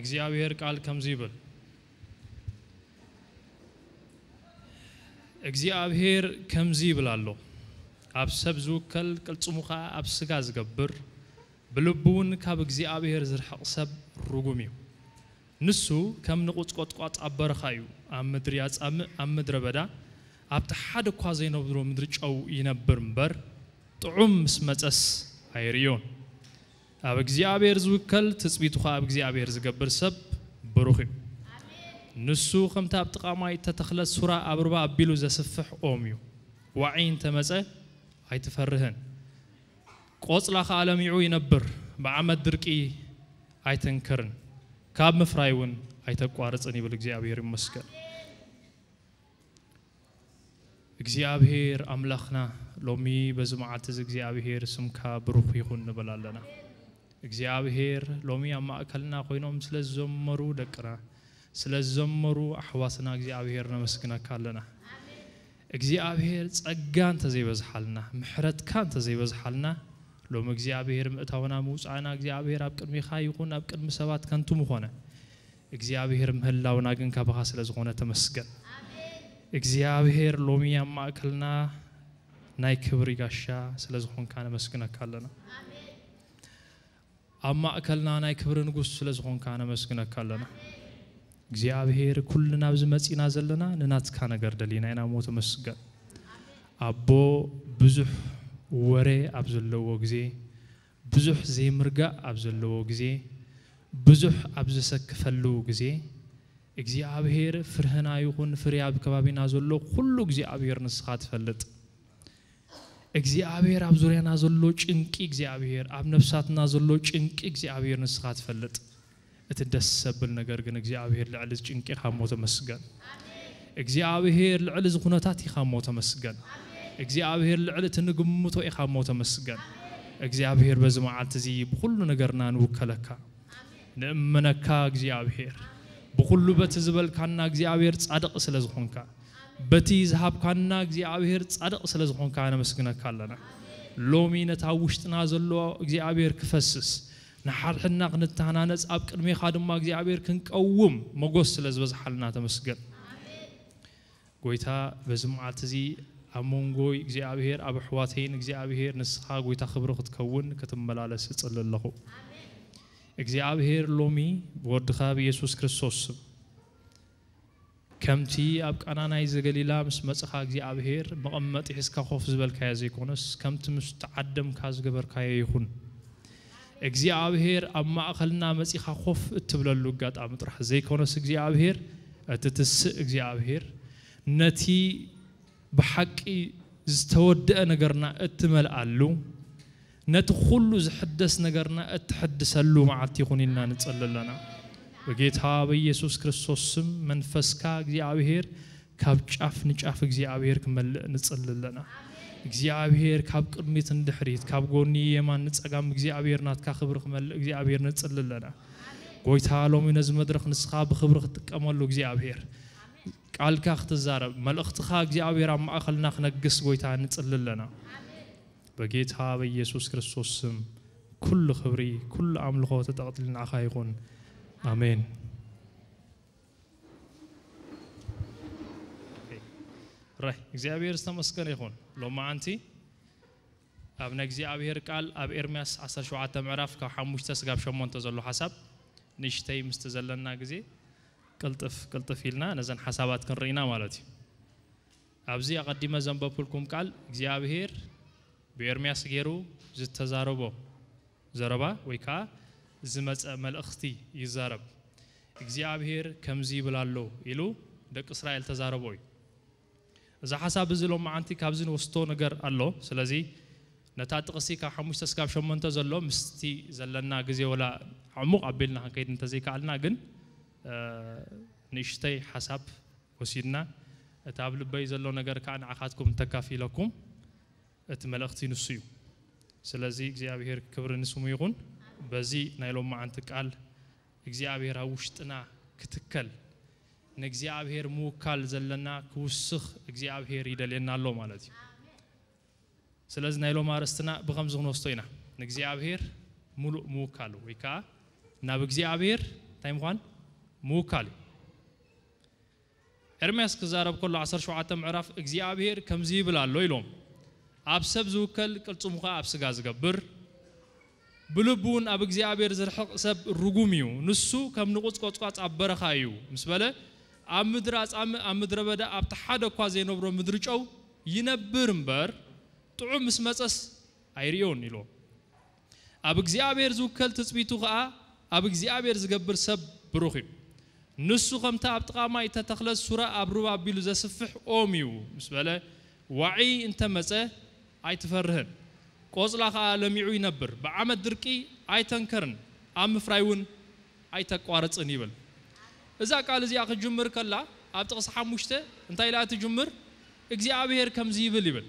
እግዚኣብሔር ቃል ከምዚ ይብል። እግዚኣብሔር ከምዚ ይብል ኣሎ፣ ኣብ ሰብ ዝውከል ቅልጽሙ ኸኣ ኣብ ስጋ ዝገብር፣ ብልቡ እውን ካብ እግዚኣብሔር ዝርሕቕ ሰብ ርጉም እዩ። ንሱ ከም ንቑጽ ቈጥቋጥ ኣብ በረኻ እዩ፣ ኣብ ምድሪ ኣጻምእ፣ ኣብ ምድረ በዳ፣ ኣብቲ ሓደ እኳ ዘይነብሮ ምድሪ ጨው ይነብር እምበር፣ ጥዑም ምስ መጸስ ኣይርእዮን። ኣብ እግዚኣብሔር ዝውከል፣ ትጽቢቱ ኸኣ ኣብ እግዚኣብሔር ዝገብር ሰብ ብሩኽ እዩ። ንሱ ከምቲ ኣብ ጥቓ ማይ እተተኽለት ሱራ ኣብ ሩባ ኣቢሉ ዘስፍሕ ኦም እዩ። ዋዒ እንተ መጸ ኣይትፈርህን። ቆጽላ ኸኣ ለሚዑ ይነብር፣ ብዓመት ድርቂ ኣይትንክርን፣ ካብ ምፍራይ እውን ኣይተቋርጽን ይብል። እግዚኣብሔር ይመስገን። እግዚኣብሔር ኣምላኽና፣ ሎሚ በዚ መዓልቲ እዚ እግዚኣብሔር ስምካ ብሩኽ ይኹን ንብል ኣለና። እግዚኣብሔር ሎሚ ኣብ ማእከልና ኮይኖም ስለ ዝዘመሩ ደቅና፣ ስለ ዝዘመሩ ኣሕዋትና እግዚኣብሔር ነመስግነካ ኣለና። እግዚኣብሔር ጸጋ እንተ ዘይበዝሓልና፣ ምሕረትካ እንተ ዘይበዝሓልና፣ ሎሚ እግዚኣብሔር ምእታውና ምውጻእና እግዚኣብሔር ኣብ ቅድሚኻ ይኹን ኣብ ቅድሚ ሰባት ከንቱ ምኾነ። እግዚኣብሔር ምህላውና ግን ካባኻ ስለ ዝኾነ ተመስገን። እግዚኣብሔር ሎሚ ኣብ ማእከልና ናይ ክብሪ ጋሻ ስለ ዝኾንካ ነመስግነካ ኣለና። ኣብ ማእከልና ናይ ክብሪ ንጉስ ስለ ዝኾንካ ነመስግነካ ኣለና። እግዚኣብሔር ኩልና ኣብዚ መጺና ዘለና ንናትካ ነገር ደሊና ኢና እሞ ተመስገን። ኣቦ ብዙሕ ወረ ኣብ ዘለዎ ግዜ፣ ብዙሕ ዘይምርጋእ ኣብ ዘለዎ ግዜ፣ ብዙሕ ኣብ ዘሰክፈሉ ግዜ፣ እግዚኣብሔር ፍርህና ይኹን ፍሬ ኣብ ከባቢና ዘሎ ኩሉ እግዚኣብሔር ንስኻ ትፈልጥ። እግዚኣብሔር ኣብ ዙርያና ዘሎ ጭንቂ እግዚኣብሔር፣ ኣብ ነፍሳትና ዘሎ ጭንቂ እግዚኣብሔር ንስኻ ትፈልጥ። እቲ ደስ ዘብል ነገር ግን እግዚኣብሔር ልዕሊ እዚ ጭንቂ ኢኻ እሞ ተመስገን። እግዚኣብሔር ልዕሊ እዚ ኩነታት ኢኻ እሞ ተመስገን። እግዚኣብሔር ልዕሊ እቲ ንግምቶ ኢኻ እሞ ተመስገን። እግዚኣብሔር በዚ መዓልቲ እዚ ብኹሉ ነገርና ንውከለካ። ንእመነካ እግዚኣብሔር። ብኹሉ በቲ ዝበልካና እግዚኣብሔር ጻድቕ ስለ ዝኾንካ፣ በቲ ዝሃብካና እግዚኣብሔር ጻድቕ ስለ ዝኾንካ ነመስግነካ ኣለና። ሎሚ ነታ ውሽጥና ዘሎ እግዚኣብሔር ክፈስስ፣ ንሓድሕድና ክንተሃናነጽ፣ ኣብ ቅድሜኻ ድማ እግዚኣብሔር ክንቀውም መጎስ ስለ ዝበዝሓልና ተመስገን። ጎይታ በዚ መዓልቲ እዚ ኣብ መንጎይ እግዚኣብሔር፣ ኣብ ኣሕዋተይን እግዚኣብሔር ንስኻ ጎይታ ክብሪ ክትከውን ክትመላለስ እጽሊ ኣለኹ። እግዚኣብሔር ሎሚ ብወድኻ ብኢየሱስ ክርስቶስ ስም፣ ከምቲ ኣብ ቃና ናይ ዘገሊላ ምስ መጽኻ እግዚኣብሔር መቐመጢ ሒዝካ ኮፍ ዝበልካዮ ዘይኮነስ፣ ከምቲ ምስ ተዓደምካ ዝገበርካዮ ይኹን። እግዚኣብሔር ኣብ ማእከልና መጺኻ ኮፍ እትብለሉ ኣጋጣሚ ጥራሕ ዘይኮነስ፣ እግዚኣብሔር እቲ ትስእ እግዚኣብሔር ነቲ ብሓቂ ዝተወደአ ነገርና እትመልኣሉ፣ ነቲ ኩሉ ዝሕደስ ነገርና እትሕድሰሉ መዓልቲ ይኹን ኢልና ንጽሊ ኣለና። ብጌታ ብኢየሱስ ክርስቶስ ስም መንፈስካ እግዚኣብሔር ካብ ጫፍ ንጫፍ እግዚኣብሔር ክመልእ ንጽሊ ኣለና። እግዚኣብሔር ካብ ቅድሚት ንድሕሪት፣ ካብ ጎኒ የማን ንጸጋም እግዚኣብሔር ናትካ ክብሪ ክመልእ እግዚኣብሔር ንጽሊ ኣለና። ጎይታ ሎሚ ነዚ መድረኽ ንስኻ ብክብሪ ክትጥቀመሉ እግዚኣብሔር ቃልካ ክትዛረብ፣ መልእኽትኻ እግዚኣብሔር ኣብ ማእኸልና ክነግስ ጎይታ ንጽሊ ኣለና። በጌታ በኢየሱስ ክርስቶስ ስም ኩሉ ክብሪ፣ ኩሉ ኣምልኾ ተጠቕሊሉ ንዓኻ ይኹን። ኣሜን። ራይ እግዚኣብሔር ዝተመስገነ ይኹን። ሎማዓንቲ ኣብ ናይ እግዚኣብሔር ቃል ኣብ ኤርምያስ ዓሰርተ ሸውዓተ ምዕራፍ ካብ ሓሙሽተ ስጋብ ሸሞንተ ዘሎ ሓሳብ ንእሽተይ ምስቲ ዘለና ግዜ ቅልጥፍ ቅልጥፍ ኢልና ነዘን ሓሳባት ክንርኢና ማለት እዩ። ኣብዚ ኣቐዲመ ዘንበብኩልኩም ቃል እግዚኣብሔር ብኤርምያስ ገይሩ ዝተዛረቦ ዘረባ ወይ ከዓ ዝመፀ መልእኽቲ ይዛረብ። እግዚኣብሔር ከምዚ ይብል ኣሎ ኢሉ ደቂ እስራኤል ተዛረቦ እዩ። እዚ ሓሳብ እዚ ሎማዓንቲ ካብዚ ንወስቶ ነገር ኣሎ። ስለዚ ነታ ጥቕሲ ካብ ሓሙሽተ ስጋብ ሸሞንተ ዘሎ ምስቲ ዘለና ግዜ ወላ ዕሙቕ ኣቢልና ክንከይድ እንተዘይከኣልና ግን፣ እ፣ ንእሽተይ ሓሳብ ወሲድና፣ እቲ ኣብ ልበይ ዘሎ ነገር ከዓ ንዓኻትኩም እንተካፊለኩም፣ እቲ መልእኽቲ ንሱ እዩ። ስለዚ እግዚኣብሔር ክብሪ ንስሙ ይኹን። በዚ ናይ ሎማዓንቲ ቃል እግዚኣብሔር ኣብ ውሽጥና ክትከል፣ ንእግዚኣብሔር ምውካል ዘለና ክውስኽ እግዚኣብሔር ይደልየና ኣሎ ማለት እዩ። ስለዚ ናይ ሎም ኣርእስትና ብኸምዚ ክንወስዶ ኢና። ንእግዚኣብሔር ምሉእ ምውካሉ ወይ ከዓ ናብ እግዚኣብሔር እንታይ ምዃን? ምውካል እዩ። ኤርምያስ ክዛረብ ከሎ ዓሰርተ ሸውዓተ ምዕራፍ እግዚኣብሔር ከምዚ ይብል ኣሎ ኢሎም፣ ኣብ ሰብ ዝውከል ቅልጽሙ ኸዓ ኣብ ስጋ ዝገብር፣ ብልቡ እውን ኣብ እግዚኣብሔር ዝርሕቕ ሰብ ርጉም እዩ። ንሱ ከም ንቑጽ ቆጽቋጽ ኣብ በረኻ እዩ ምስ በለ፣ ኣብ ምድሪ ኣጻምእ፣ ኣብ ምድረ በዳ ኣብቲ ሓደ እኳ ዘይነብሮ ምድሪ ጨው ይነብር እምበር፣ ጥዑም ምስ መጸስ ኣይርእዮን ኢሎ። ኣብ እግዚኣብሔር ዝውከል ትጽቢቱ ኸዓ ኣብ እግዚኣብሔር ዝገብር ሰብ ብሩኽ እዩ። ንሱ ከምታ ኣብ ጥቓ ማይ እተተኽለት ሱራ ኣብ ሩባ ኣቢሉ ዘስፍሕ ኦም እዩ ምስ በለ፣ ዋዒ እንተመጸ ኣይትፈርህን። ቆጽላ ኸዓ ለሚዑ ይነብር። ብዓመት ድርቂ ኣይተንከርን፣ ኣብ ምፍራይ እውን ኣይተቋርጽን ይብል። እዛ ቃል እዚኣ ክትጅምር ከላ ኣብ ጥቕሲ ሓሙሽተ እንታይ ኢላ ትጅምር? እግዚኣብሔር ከምዚ ይብል ይብል።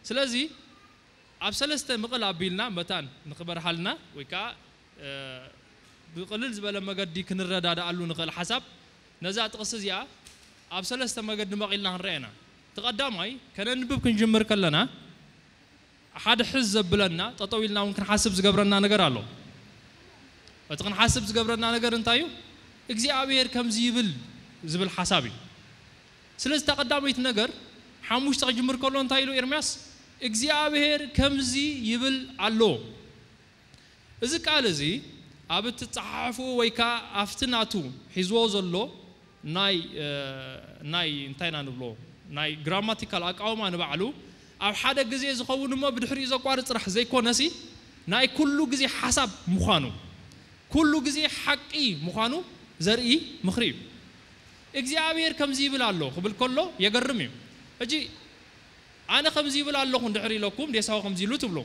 ስለዚ ኣብ ሰለስተ ምቕል ኣቢልና መታን ንኽበርሃልና ወይ ከዓ ብቕልል ዝበለ መገዲ ክንረዳድኣሉ ንኽእል ሓሳብ ነዛ ጥቕሲ እዚኣ ኣብ ሰለስተ መገዲ መቒልና ክንረአ ኢና። እቲ ቀዳማይ ከነንብብ ክንጅምር ከለና ሓደ ሕዝ ዘብለና ጠጠው ኢልና እውን ክንሓስብ ዝገብረና ነገር ኣሎ። እቲ ክንሓስብ ዝገብረና ነገር እንታይ እዩ? እግዚኣብሔር ከምዚ ይብል ዝብል ሓሳብ እዩ። ስለዚ እታ ቀዳመይቲ ነገር ሓሙሽተ ክጅምር ከሎ እንታይ ኢሉ ኤርምያስ? እግዚኣብሔር ከምዚ ይብል ኣሎ። እዚ ቃል እዚ ኣብ እትጸሓሕፉ ወይ ከኣ ኣብቲ ናቱ ሒዝዎ ዘሎ ናይ ናይ እንታይ ኢና ንብሎ ናይ ግራማቲካል ኣቃውማ ንባዕሉ ኣብ ሓደ ግዜ ዝኸውን እሞ ብድሕሪኡ ዘቋርጽ ጥራሕ ዘይኮነሲ ናይ ኩሉ ግዜ ሓሳብ ምዃኑ ኩሉ ግዜ ሓቂ ምዃኑ ዘርኢ ምኽሪ እዩ። እግዚኣብሔር ከምዚ ይብል ኣሎ ክብል ከሎ የገርም እዩ። ሕጂ ኣነ ከምዚ ይብል ኣለኹ እንድሕር ኢለኩም ዴሳው ከምዚ ኢሉ ትብሎ።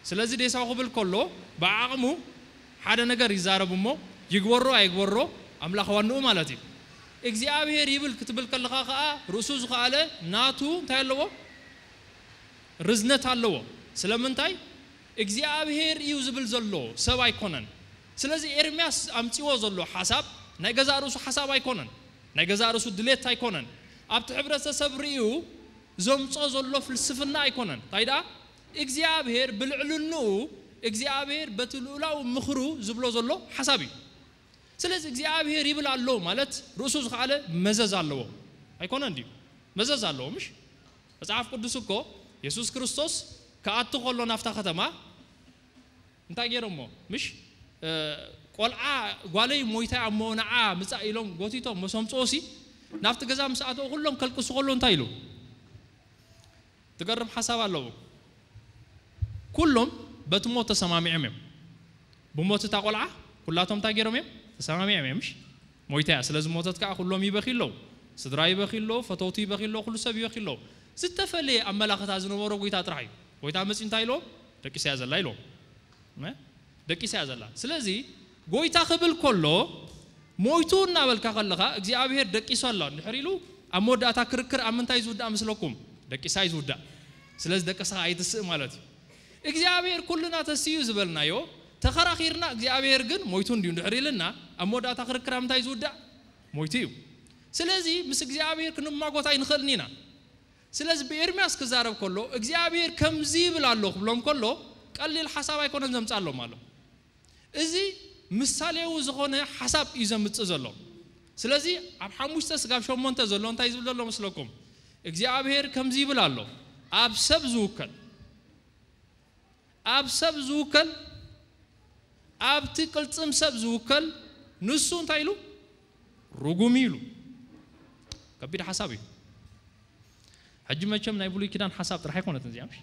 ስለዚ ዴሳው ክብል ከሎ ብዓቕሙ ሓደ ነገር ይዛረብ እሞ ይግበሮ ኣይግበሮ ኣምላኽ ዋንኡ ማለት እዩ። እግዚኣብሔር ይብል ክትብል ከለኻ ከዓ ርእሱ ዝኸኣለ ናቱ እንታይ ኣለዎ? ርዝነት ኣለዎ። ስለምንታይ? እግዚኣብሔር እዩ ዝብል ዘሎ ሰብ ኣይኮነን። ስለዚ ኤርምያስ ኣምጺዎ ዘሎ ሓሳብ ናይ ገዛእ ርእሱ ሓሳብ ኣይኮነን፣ ናይ ገዛእ ርእሱ ድሌት ኣይኮነን። ኣብቲ ሕብረተሰብ ርእዩ ዘምጾ ዘሎ ፍልስፍና ኣይኮነን። እንታይ ደኣ እግዚኣብሔር ብልዕልንኡ እግዚኣብሔር በቲ ልኡላዊ ምኽሩ ዝብሎ ዘሎ ሓሳብ እዩ። ስለዚ እግዚኣብሔር ይብል ኣሎ ማለት ርእሱ ዝኸኣለ መዘዝ ኣለዎ ኣይኮነን ድዩ? መዘዝ ኣለዎ ምሽ? መጽሓፍ ቅዱስ እኮ የሱስ ክርስቶስ ክኣቱ ከሎ ናብታ ከተማ እንታይ ገይሮሞ ምሽ? ቆልዓ ጓለይ ሞይታ እሞ ንዓ ምጻእ ኢሎም ጎቲቶም መሶም ጾሲ ናብቲ ገዛ ምስ ኣተው ኩሎም ከልቅሱ ከሎ እንታይ ኢሉ? ትገርም ሓሳብ ኣለዎ። ኩሎም በቲ ሞት ተሰማሚዖም እዮም። ብሞት እታ ቆልዓ ኩላቶም እንታይ ገይሮም እዮም? ተሰማሚዖም እዮም። ምሽ ሞይታ እያ ስለ ዝሞተት ከዓ ኩሎም ይበኪ ኣለዉ። ስድራ ይበኪ ኣለዉ፣ ፈተውቲ ይበኪ ኣለዉ፣ ኩሉ ሰብ ይበኪ ኣለዉ። ዝተፈለየ ኣመላኽታ ዝነበሮ ጎይታ ጥራሕ እዩ። ጎይታ መፂኡ እንታይ ኢልዎም? ደቂሳ እያ ዘላ ኢልዎም። ደቂሳ እያ ዘላ። ስለዚ ጎይታ ክብል ከሎ ሞይቱ እናበልካ ከለኻ እግዚኣብሔር ደቂሱ ኣሎ እንድሕር ኢሉ ኣብ መወዳእታ ክርክር ኣብ ምንታይ ዝውዳእ መስለኩም? ደቂሳ እዩ ዝውዳእ። ስለዚ ደቂስኻ ኣይትስእ ማለት እዩ። እግዚኣብሔር ኩልና ተስዩ ዝበልናዮ ተኸራኺርና እግዚኣብሔር ግን ሞይቱ እንድዩ እንድሕር ኢልና ኣብ መወዳእታ ክርክር ኣብ ምንታይ ዝውዳእ? ሞይቱ እዩ። ስለዚ ምስ እግዚኣብሔር ክንማጎት ኣይንኽእልን ኢና። ስለዚ ብኤርምያስ ክዛረብ ከሎ እግዚኣብሔር ከምዚ ይብል ኣሎ ክብሎም ከሎ ቀሊል ሓሳብ ኣይኮነን ዘምጻሎም ኣሎ። እዚ ምሳሌዊ ዝኾነ ሓሳብ እዩ ዘምጽእ ዘሎ። ስለዚ ኣብ ሓሙሽተ ስጋብ ሸሞንተ ዘሎ እንታይ ዝብል ዘሎ መስለኩም? እግዚኣብሔር ከምዚ ይብል ኣሎ፣ ኣብ ሰብ ዝውከል ኣብ ሰብ ዝውከል ኣብቲ ቅልጽም ሰብ ዝውከል ንሱ እንታይ ኢሉ? ርጉም እዩ ኢሉ። ከቢድ ሓሳብ እዩ። ሕጂ መቸም ናይ ብሉይ ኪዳን ሓሳብ ጥራሕ ኣይኮነትን እዚኣ ምሽ?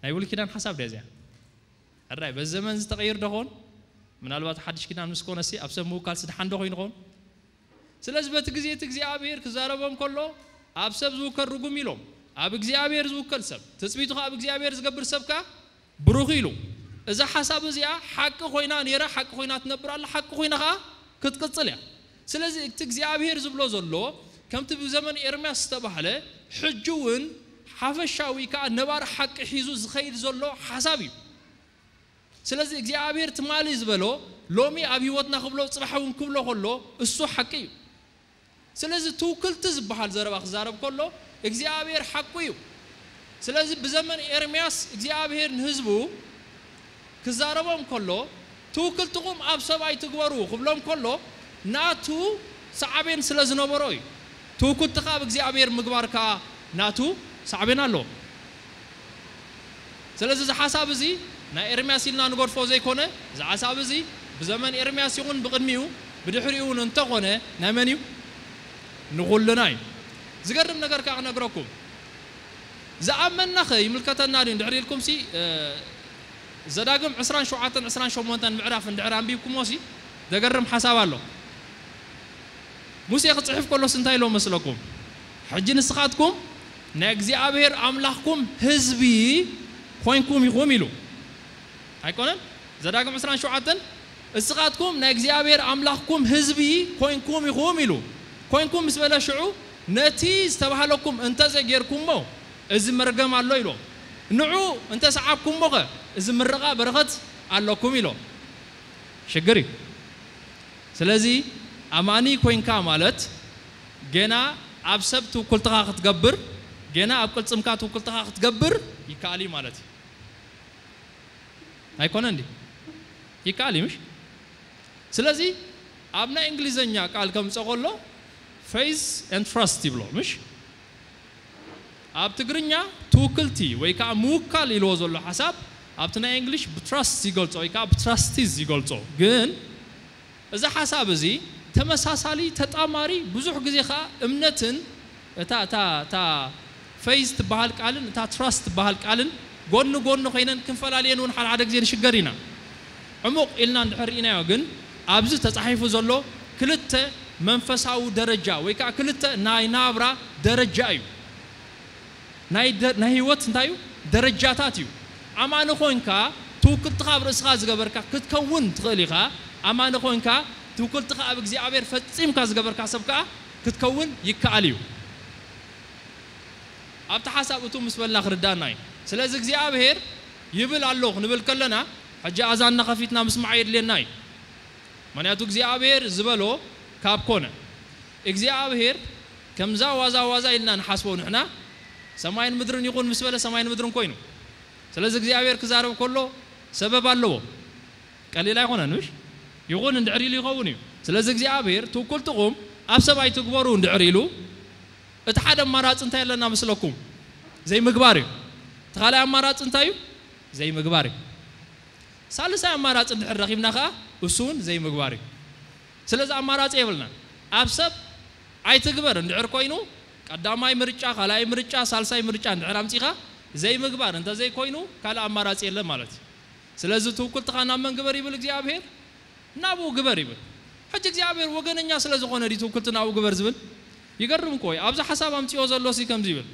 ናይ ብሉይ ኪዳን ሓሳብ ድያ እዚኣ? ሕራይ በዚ ዘመን ዝተቐይር ዶ ኸውን? ምናልባት ሓድሽ ኪዳን ምስ ኮነሲ ኣብ ሰብ ምውካል ስድሓን ዶ ኮይኑ ኸውን? ስለዚ በቲ ግዜ እቲ እግዚኣብሔር ክዛረቦም ከሎ ኣብ ሰብ ዝውከል ርጉም ኢሎም ኣብ እግዚኣብሔር ዝውከል ሰብ ትጽቢቱ ከኣ ኣብ እግዚኣብሔር ዝገብር ሰብ ከኣ ብሩኽ ኢሉ። እዛ ሓሳብ እዚኣ ሓቂ ኮይና ነይራ፣ ሓቂ ኮይና ትነብር ኣላ፣ ሓቂ ኮይና ከኣ ክትቅጽል እያ። ስለዚ እቲ እግዚኣብሔር ዝብሎ ዘሎ ከምቲ ብዘመን ኤርምያስ ዝተባህለ ሕጂ እውን ሓፈሻዊ ከኣ ነባሪ ሓቂ ሒዙ ዝኸይድ ዘሎ ሓሳብ እዩ። ስለዚ እግዚኣብሔር ትማሊ ዝበሎ ሎሚ ኣብ ህይወትና ክብሎ ጽባሕ እውን ክብሎ ከሎ እሱ ሓቂ እዩ። ስለዚ ትውክልቲ ዝበሃል ዘረባ ክዛረብ ከሎ እግዚኣብሔር ሓቁ እዩ። ስለዚ ብዘመን ኤርምያስ እግዚኣብሔር ንህዝቡ ክዛረቦም ከሎ ትውክልትኹም ኣብ ሰብ ኣይትግበሩ ክብሎም ከሎ ናቱ ሳዕቤን ስለ ዝነበሮ እዩ። ትውክልትኻ ኣብ እግዚኣብሔር ምግባር ከኣ ናቱ ሳዕቤን ኣለዎ። ስለዚ እዚ ሓሳብ እዚ ናይ ኤርምያስ ኢልና ንገድፎ ዘይኮነ፣ እዚ ሓሳብ እዚ ብዘመን ኤርምያስ ይኹን ብቕድሚኡ ብድሕሪኡ እውን እንተኾነ ናይ መን እዩ? ንኹልና እዩ። ዝገርም ነገር ከኣ ክነግረኩም። ዝኣመንናኸ ይምልከተና ድዩ እንድሕር ኢልኩምሲ፣ ዘዳግም ዕስራን ሸውዓተን ዕስራን ሸሞንተን ምዕራፍ እንድሕር ኣንቢብኩሞሲ ዘገርም ሓሳብ ኣሎ። ሙሴ ክጽሕፍ ከሎስ እንታይ ኢሎ መስለኩም? ሕጂ ንስኻትኩም ናይ እግዚኣብሔር ኣምላኽኩም ህዝቢ ኮይንኩም ኢኹም ኢሉ። ኣይኮነን? ዘዳግም ዕስራን ሸውዓተን እስኻትኩም ናይ እግዚኣብሔር ኣምላኽኩም ህዝቢ ኮይንኩም ኢኹም ኢሉ። ኮይንኩም ምስ በለ ሽዑ ነቲ ዝተባህለኩም እንተዘይጌርኩሞ እዚ መርገም ኣሎ ኢሎ። ንዑ እንተሰዓብኩሞኸ እዚ ምርቓ በረኸት ኣለኩም ኢሎ። ሽግር እዩ። ስለዚ ኣማኒ ኮይንካ ማለት ገና ኣብ ሰብ ትውክልትኻ ክትገብር፣ ገና ኣብ ቅልጽምካ ትውክልትኻ ክትገብር ይከኣል እዩ ማለት እዩ። ኣይኮነ እንዲ ይከኣል እዩ ምሽ? ስለዚ ኣብ ናይ እንግሊዘኛ ቃል ከምፀ ከሎ faith and trust ይብሎ ምሽ? ኣብ ትግርኛ ትውክልቲ ወይ ከዓ ምውካል ኢልዎ ዘሎ ሓሳብ ኣብቲ ናይ እንግሊሽ ብትራስት ይገልጾ ወይ ከዓ ብትራስቲዝ ይገልጾ። ግን እዚ ሓሳብ እዚ ተመሳሳሊ፣ ተጣማሪ፣ ብዙሕ ግዜ ከዓ እምነትን እታ እታ እታ ፌዝ ትበሃል ቃልን እታ ትራስት ትበሃል ቃልን ጎኒ ጎኒ ኮይነን ክንፈላልየን እውን ሓደ ሓደ ግዜ ንሽገር ኢና። ዕሙቕ ኢልና እንድሕር ርኢናዮ ግን ኣብዚ ተጻሒፉ ዘሎ ክልተ መንፈሳዊ ደረጃ ወይ ከዓ ክልተ ናይ ናብራ ደረጃ እዩ። ናይ ደ- ናይ ህይወት እንታይ እዩ? ደረጃታት እዩ። ኣማኒ ኮንካ ትውክልትኻ ኣብ ርእስኻ ዝገበርካ ክትከውን ትኽእል ኢኻ። ኣማኒ ኮንካ ትውክልትኻ ኣብ እግዚኣብሔር ፈጺምካ ዝገበርካ ሰብ ከዓ ክትከውን ይከኣል እዩ። ኣብቲ ሓሳብ እቱ ምስ በልና ክርዳና እዩ። ስለዚ እግዚኣብሔር ይብል ኣሎ ክንብል ከለና ሕጂ ኣዛንና ከፊትና ምስማዕ የድልየና እዩ። ምክንያቱ እግዚኣብሔር ዝበሎ ካብ ኮነ እግዚኣብሔር ከምዛ ዋዛ ዋዛ ኢልና ንሓስቦ ንሕና ሰማይን ምድርን ይኹን ምስ በለ ሰማይን ምድርን ኮይኑ። ስለዚ እግዚኣብሔር ክዛረብ ከሎ ሰበብ ኣለዎ። ቀሊል ኣይኮነን ምሽ? ይኹን እንድሕር ኢሉ ይኸውን እዩ። ስለዚ እግዚኣብሔር ትውክልትኹም ኣብ ሰብ ኣይትግበሩ እንድሕር ኢሉ እቲ ሓደ ኣማራፂ እንታይ ኣለና መስለኩም? ዘይምግባር እዩ። እቲ ካልኣይ ኣማራፂ እንታይ እዩ? ዘይምግባር እዩ። ሳልሳይ ኣማራፂ እንድሕር ረኺብና ከዓ እሱ እውን ዘይምግባር እዩ። ስለዚ ኣማራፂ የብልናን። ኣብ ሰብ ኣይትግበር እንድሕር ኮይኑ ቀዳማይ ምርጫ፣ ካልኣይ ምርጫ፣ ሳልሳይ ምርጫ እንድሕር ኣምፂኻ ዘይምግባር እንተዘይኮይኑ ካልእ ኣማራፂ የለን ማለት እዩ። ስለዚ ትውክልትኻ ናብ መን ግበር ይብል እግዚኣብሔር? ናብኡ ግበር ይብል። ሕጂ እግዚኣብሔር ወገነኛ ስለ ዝኾነ ድዩ ትውክልቲ ናብኡ ግበር ዝብል? ይገርም እኮ እዩ። ኣብዚ ሓሳብ ኣምፅኦ ዘሎ ሲ ከምዚ ይብል።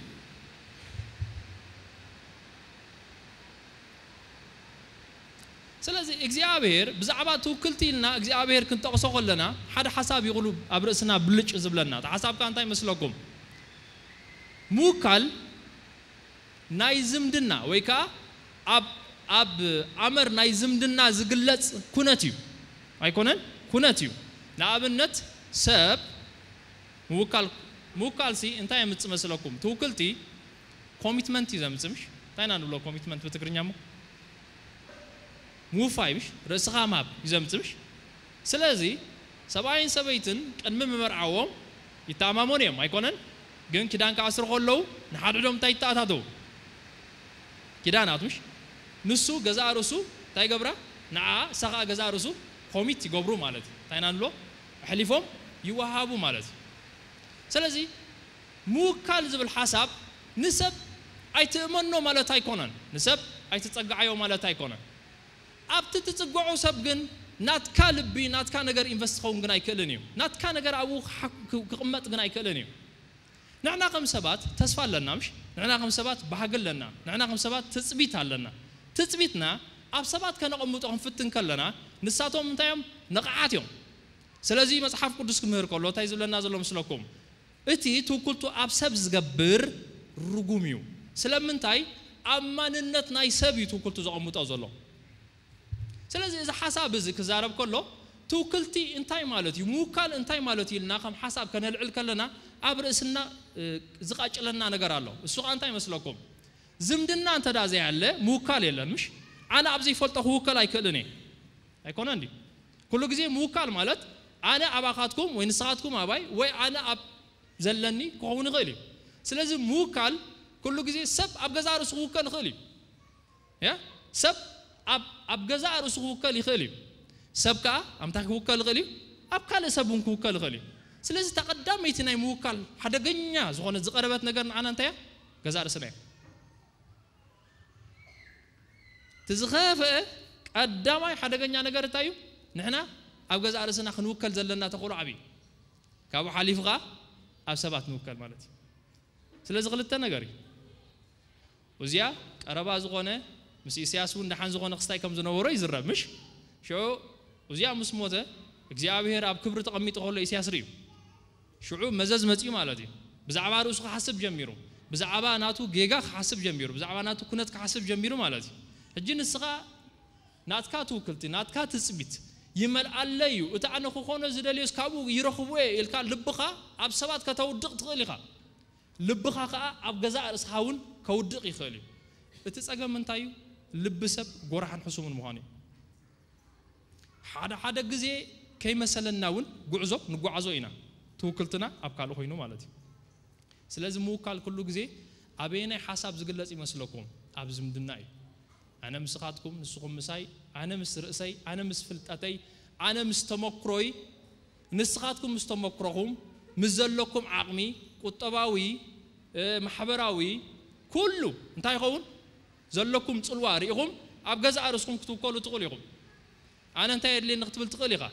ስለዚ እግዚኣብሔር ብዛዕባ ትውክልቲ ኢልና እግዚኣብሔር ክንጠቕሶ ከለና ሓደ ሓሳብ ይቕሉ ኣብ ርእስና ብልጭ ዝብለና። እቲ ሓሳብ ከ እንታይ መስለኩም? ምውካል ናይ ዝምድና ወይ ከዓ ኣብ ኣብ ኣመር ናይ ዝምድና ዝግለጽ ኩነት እዩ። ኣይኮነን? ኩነት እዩ። ንኣብነት ሰብ ምውካል ምውካል ሲ እንታይ የምጽእ መስለኩም? ትውክልቲ ኮሚትመንት እዩ ዘምጽእ ምሽ? እንታይ ኢና ንብሎ ኮሚትመንት ብትግርኛ እሞ? ምውፋይ ምሽ? ርእስኻ ምሃብ እዩ ዘምጽእ ምሽ? ስለዚ ሰብኣይን ሰበይትን ቅድሚ ምምርዓዎም ይተኣማመኑ እዮም ኣይኮነን? ግን ኪዳን ክኣስሩ ከለዉ ንሓድሕዶም እንታይ ይተኣታተዉ? ኪዳናት ምሽ? ንሱ ገዛእ ርእሱ እንታይ ይገብራ? ንዓ እሳ ኸዓ ገዛእ ርእሱ ኮሚት ይገብሩ ማለት እዩ። እንታይ ኢና ንብሎ? ኣሕሊፎም ይወሃቡ ማለት እዩ። ስለዚ ምውካል ዝብል ሓሳብ ንሰብ ኣይትእመኖ ማለት ኣይኮነን፣ ንሰብ ኣይትጸግዓዮ ማለት ኣይኮነን። ኣብቲ ትጽግዖ ሰብ ግን ናትካ ልቢ ናትካ ነገር ኢንቨስት ክኸውን ግን ኣይክእልን እዩ። ናትካ ነገር ኣብኡ ክሓ- ክቕመጥ ግን ኣይክእልን እዩ። ንሕና ከም ሰባት ተስፋ ኣለና ምሽ? ንሕና ከም ሰባት ባህጊ ኣለና። ንሕና ከም ሰባት ትጽቢት ኣለና። ትጽቢትና ኣብ ሰባት ከነቐምጦ ክንፍትን ከለና ንሳቶም እንታይ እዮም? ንቕዓት እዮም። ስለዚ መጽሓፍ ቅዱስ ክምህር ከሎ እንታይ ዝብለና ዘሎ ምስለኩም? እቲ ትውክልቱ ኣብ ሰብ ዝገብር ርጉም እዩ። ስለምንታይ? ኣብ ማንነት ናይ ሰብ እዩ ትውክልቱ ዘቐምጦ ዘሎ። ስለዚ እዚ ሓሳብ እዚ ክዛረብ ከሎ ትውክልቲ እንታይ ማለት እዩ፣ ምውካል እንታይ ማለት እዩ ኢልና ከም ሓሳብ ከነልዕል ከለና ኣብ ርእስና ዝቃጭለና ነገር ኣሎ። እሱ ኸዓ እንታይ ይመስለኩም? ዝምድና እንተ ደኣ ዘይሃለ ምውካል የለን ምሽ? ኣነ ኣብ ዘይፈልጦ ክውከል ኣይክእልን እየ። ኣይኮነ እንዲ ኩሉ ግዜ ምውካል ማለት ኣነ ኣባኻትኩም ወይ ንስኻትኩም ኣባይ ወይ ኣነ ኣብ ዘለኒ ክኸውን ይኽእል እዩ። ስለዚ ምውካል ኩሉ ግዜ ሰብ ኣብ ገዛእ ርእሱ ክውከል ይኽእል እዩ። ያ ሰብ ኣብ ኣብ ገዛእ ርእሱ ክውከል ይኽእል እዩ። ሰብ ከኣ ኣምታ ክውከል ይኽእል እዩ። ኣብ ካልእ ሰብ እውን ክውከል ይኽእል እዩ። ስለዚ ተቐዳመይቲ ናይ ምውካል ሓደገኛ ዝኾነ ዝቐረበት ነገር ንዓና እንታይ እያ? ገዛእ ርእስና እያ። እቲ ዝኸፍአ ቀዳማይ ሓደገኛ ነገር እንታይ እዩ? ንሕና ኣብ ገዛእ ርእስና ክንውከል ዘለና ተኽእሎ ዓብዪ እዩ። ካብኡ ሓሊፉ ኸዓ ኣብ ሰባት ንውከል ማለት እዩ። ስለዚ ክልተ ነገር እዩ። እዚኣ ቀረባ ዝኾነ ምስ ኢሳያስ እውን ደሓን ዝኾነ ክስታይ ከም ዝነበሮ ይዝረብ ምሽ? ሽዑ እዚኣ ምስ ሞተ እግዚኣብሔር ኣብ ክብሪ ተቐሚጡ ከሎ ኢሳያስ ርእዩ። ሽዑ መዘዝ መጺኡ ማለት እዩ። ብዛዕባ ርእሱ ክሓስብ ጀሚሩ። ብዛዕባ ናቱ ጌጋ ክሓስብ ጀሚሩ። ብዛዕባ ናቱ ኩነት ክሓስብ ጀሚሩ ማለት እዩ። ሕጂ ንስኻ ናትካ ትውክልቲ ናትካ ትጽቢት ይመልኣለይ እዩ፣ እቲ ኣነ ክኾኖ ዝደልዮስ ካብኡ ይረኽቦ እየ ኢልካ ልብኻ ኣብ ሰባት ከተውድቕ ትኽእል ኢኻ። ልብኻ ከኣ ኣብ ገዛእ ርእስኻ እውን ከውድቕ ይኽእል እዩ። እቲ ጸገም እንታይ እዩ? ልቢ ሰብ ጎራሕን ሕሱምን ምዃኑ እዩ። ሓደ ሓደ ግዜ ከይመሰለና እውን ጉዕዞ ንጓዓዞ ኢና፣ ትውክልትና ኣብ ካልእ ኮይኑ ማለት እዩ። ስለዚ ምውካል ኩሉ ግዜ ኣበየናይ ሓሳብ ዝግለጽ ይመስለኩም? ኣብ ዝምድና እዩ። ኣነ ምስኻትኩም፣ ንስኹም ምሳይ፣ ኣነ ምስ ርእሰይ፣ ኣነ ምስ ፍልጠተይ፣ ኣነ ምስ ተመክሮይ፣ ንስኻትኩም ምስ ተመክሮኹም፣ ምስ ዘለኩም ዓቕሚ፣ ቁጠባዊ፣ እ፣ ማሕበራዊ፣ ኩሉ እንታይ ይኸውን? ዘለኩም ጽልዋ ርኢኹም ኣብ ገዛእ ርእስኹም ክትውከሉ ትኽእሉ ኢኹም። ኣነ እንታይ የድልየኒ ክትብል ትኽእል ኢኻ።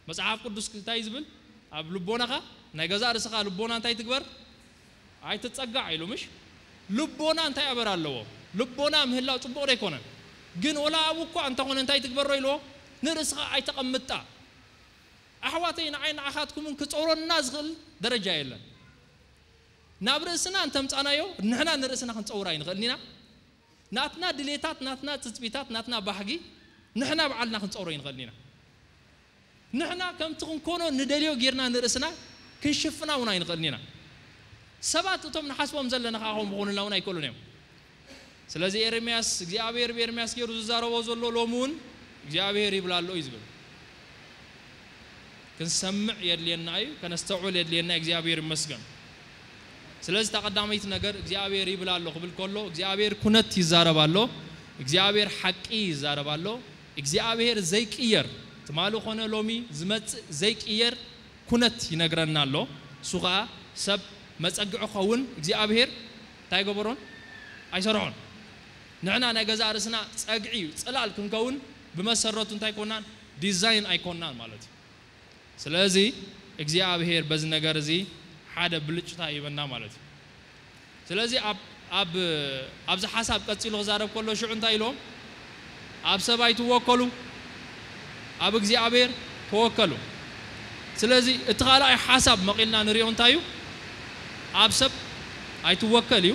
መጽሓፍ ቅዱስ እንታይ ዝብል? ኣብ ልቦናኻ፣ ናይ ገዛእ ርእስኻ ልቦና እንታይ ትግበር? ኣይትጸጋዕ ኢሉ ምሽ? ልቦና እንታይ ኣበር ኣለዎ? ልቦና ምህላው ጽቡቕ ዶ ኣይኮነን? ግን ወላ ኣብኡ እኳ እንተኾነ እንታይ ትግበሮ ኢልዎ? ንርእስኻ ኣይተቐምጣ። ኣሕዋተይ፣ ንዓይ ንዓኻትኩምን ክጸውረና ዝኽእል ደረጃ የለን። ናብ ርእስና እንተምጻናዮ፣ ንሕና ንርእስና ክንጸውር ኣይንኽእልን ኢና። ናትና ድሌታት፣ ናትና ትጽቢታት፣ ናትና ባህጊ ንሕና ባዕልና ክንጸውሮ ኣይንኽእልን ኢና። ንሕና ከምቲ ክንኮኖ ንደልዮ ጌርና ንርእስና ክንሽፍና እውን ኣይንኽእልን ኢና። ሰባት እቶም ንሓስቦም ዘለና ከኣ ከምኡ ክኾኑልና እውን ኣይክእሉን እዮም። ስለዚ ኤርምያስ፣ እግዚኣብሔር ብኤርምያስ ገይሩ ዝዛረቦ ዘሎ ሎሚ እውን እግዚኣብሔር ይብል ኣሎ እዩ ዝብል። ክንሰምዕ የድልየና እዩ፣ ከነስተውዕል የድልየና። እግዚኣብሔር ይመስገን። ስለዚ እታ ቀዳመይቲ ነገር እግዚኣብሔር ይብል ኣሎ ክብል ከሎ እግዚኣብሔር ኩነት ይዛረብ ኣሎ፣ እግዚኣብሔር ሓቂ ይዛረብ ኣሎ። እግዚኣብሔር ዘይቅየር፣ ትማሊ ኮነ ሎሚ ዝመጽእ ዘይቅየር ኩነት ይነግረና ኣሎ። እሱ ኸኣ ሰብ መጸግዒ ክኸውን እግዚኣብሔር እንታይ ገበሮን ኣይሰርሖን። ንሕና ናይ ገዛእ ርእስና ጸግዒ እዩ፣ ጽላል ክንከውን ብመሰረቱ እንታይ ኮናን ዲዛይን ኣይኮናን ማለት እዩ። ስለዚ እግዚኣብሔር በዚ ነገር እዚ ሓደ ብልጭታ ይበና ማለት እዩ። ስለዚ ኣብ ኣብ ኣብዚ ሓሳብ ቀጺሉ ክዛረብ ከሎ ሽዑ እንታይ ኢሎም? ኣብ ሰብ ኣይትወከሉ፣ ኣብ እግዚኣብሔር ተወከሉ። ስለዚ እቲ ካልኣይ ሓሳብ መቒልና ንሪኦ እንታይ እዩ? ኣብ ሰብ ኣይትወከል እዩ፣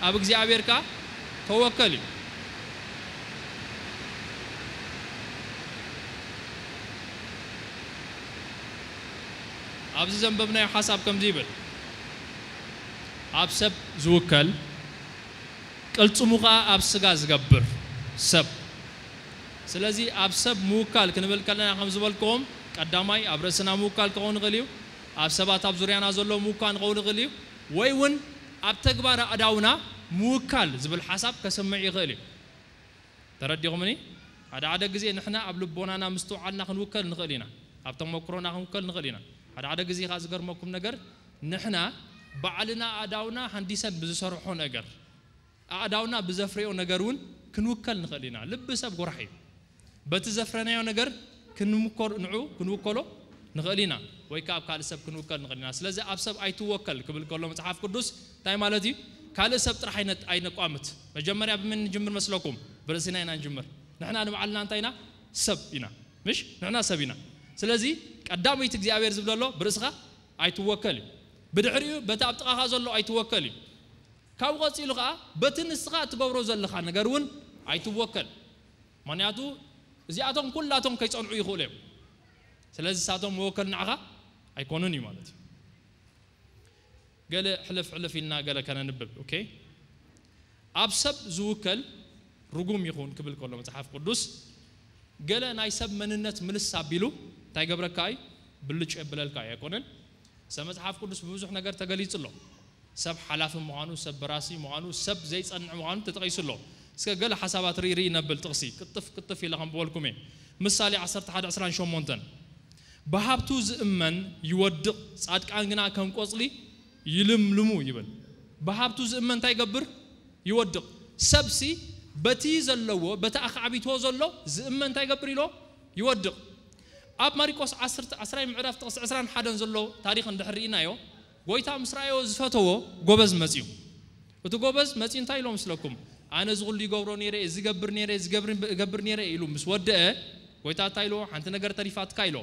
ኣብ እግዚኣብሔር ከኣ ተወከል እዩ። ኣብዚ ዘንበብናዮ ሓሳብ ከምዚ ይብል፣ ኣብ ሰብ ዝውከል ቅልጽሙ ኸኣ ኣብ ስጋ ዝገብር ሰብ። ስለዚ ኣብ ሰብ ምውካል ክንብል ከለና ከም ዝበልክዎም ቀዳማይ ኣብ ርእስና ምውካል ክኸውን ይኽእል እዩ፣ ኣብ ሰባት ኣብ ዙርያና ዘሎ ምውካል ክኸውን ይኽእል እዩ፣ ወይ እውን ኣብ ተግባር ኣእዳውና ምውካል ዝብል ሓሳብ ከስምዕ ይኽእል እዩ። ተረዲኹምኒ? ሓደ ሓደ ግዜ ንሕና ኣብ ልቦናና ምስትውዓልና ክንውከል ንኽእል ኢና፣ ኣብ ተመክሮና ክንውከል ንኽእል ኢና። ሓደ ሓደ ግዜ ከኣ ዝገርመኩም ነገር ንሕና ባዕልና ኣእዳውና ሃንዲሰን ብዝሰርሖ ነገር ኣእዳውና ብዘፍረዮ ነገር እውን ክንውከል ንኽእል ኢና። ልቢ ሰብ ጎራሕ እዩ። በቲ ዘፍረናዮ ነገር ክንምኮር ንዑ ክንውከሎ ንኽእል ኢና፣ ወይ ከዓ ኣብ ካልእ ሰብ ክንውከል ንኽእል ኢና። ስለዚ ኣብ ሰብ ኣይትወከል ክብል ከሎ መጽሓፍ ቅዱስ እንታይ ማለት እዩ? ካልእ ሰብ ጥራሕ ኣይነ- ኣይነቋምት። መጀመርያ ብመን ንጅምር መስለኩም? ብርእስና ኢና ንጅምር። ንሕና ንባዕልና እንታይ ኢና? ሰብ ኢና። ምሽ ንሕና ሰብ ኢና። ስለዚ ቀዳመይቲ እግዚኣብሔር ዝብለሎ ብርእስኻ ኣይትወከል እዩ። ብድሕሪኡ በቲ ኣብ ጥቓኻ ዘሎ ኣይትወከል እዩ። ካብኡ ቀጺሉ ኸዓ በቲ ንስኻ እትገብሮ ዘለኻ ነገር እውን ኣይትወከል። ምኽንያቱ እዚኣቶም ኩላቶም ከይጸንዑ ይኽእሉ እዮም። ስለዚ ንሳቶም መወከል ንዓኻ ኣይኮኑን እዩ ማለት እዩ። ገለ ሕልፍ ሕልፍ ኢልና ገለ ከነንብብ። ኦኬ፣ ኣብ ሰብ ዝውከል ርጉም ይኹን ክብል ከሎ መጽሓፍ ቅዱስ፣ ገለ ናይ ሰብ መንነት ምልስ ኣቢሉ እንታይ ገብረካ እዩ? ብልጭ የብለልካ ኣይኮነን። ሰብ መጽሓፍ ቅዱስ ብብዙሕ ነገር ተገሊጹ ኣሎ። ሰብ ሓላፊ ምዃኑ፣ ሰብ በራሲ ምዃኑ፣ ሰብ ዘይጸንዕ ምዃኑ ተጠቒሱ ኣሎ። እስከ ገለ ሓሳባት ርኢ ርኢ ነብል ጥቕሲ ቅጥፍ ቅጥፍ ኢለ ከም በልኩም እየ። ምሳሌ ዓሰርተ ሓደ ዕስራን ሸሞንተን፣ ብሃብቱ ዝእመን ይወድቕ፣ ጻድቃን ግና ከም ቆጽሊ ይልምልሙ ይብል። ብሃብቱ ዝእመን እንታይ ይገብር? ይወድቕ። ሰብሲ በቲ ዘለዎ፣ በቲ ኣኻዕቢትዎ ዘሎ ዝእመን እንታይ ይገብር ኢሎ? ይወድቕ። ኣብ ማሪቆስ ዓሰርተ፣ ዓስራይ ምዕራፍ ጥቕሲ ዕስራን ሓደን ዘሎ ታሪኽ እንድሕር ርኢናዮ፣ ጎይታ ምስ ረኣዮ ዝፈተዎ ጎበዝ መጺኡ። እቲ ጎበዝ መጺኡ እንታይ ኢሎ መስለኩም? ኣነ እዚ ኩሉ ይገብሮ ነይረ፣ እዚ ገብር ነይረ፣ እዚ ገብር፣ ገብር ነይረ ኢሉ ምስ ወደአ፣ ጎይታ እንታይ ኢሎ? ሓንቲ ነገር ተሪፋትካ ኢሎ።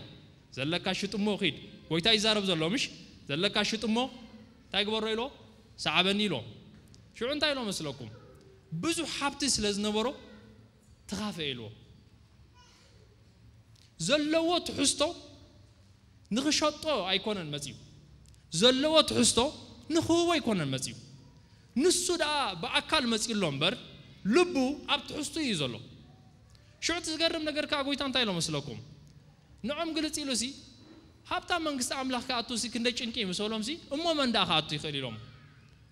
ዘለካ ሽጥ እሞ ኺድ። ጎይታ ይዛረብ ዘሎ፣ ምሽ? ዘለካ ሽጥ እሞ እንታይ ግበሮ ኢሎ? ሰዓበኒ ኢሎ። ሽዑ እንታይ ኢሎ መስለኩም? ብዙሕ ሃብቲ ስለ ዝነበሮ ተኻፈ ኢልዎ። ዘለዎ ትሕዝቶ ንኽሸጦ ኣይኮነን መጺኡ። ዘለዎ ትሕዝቶ ንኽህቦ ኣይኮነን መጺኡ። ንሱ ደኣ ብኣካል መጺኡ ኣሎ እምበር፣ ልቡ ኣብ ትሕዝቱ እዩ ዘሎ። ሽዑ እቲ ዝገርም ነገር ከኣ ጎይታ እንታይ ኢሎ መስለኩም? ንዖም ግልጽ ኢሉሲ፣ ሃብታም መንግስቲ ኣምላኽ ክኣቱሲ ክንደይ ጭንቂ እዩ ምስ በሎምሲ፣ እሞ መን ደኣ ክኣቱ ይኽእል ኢሎም።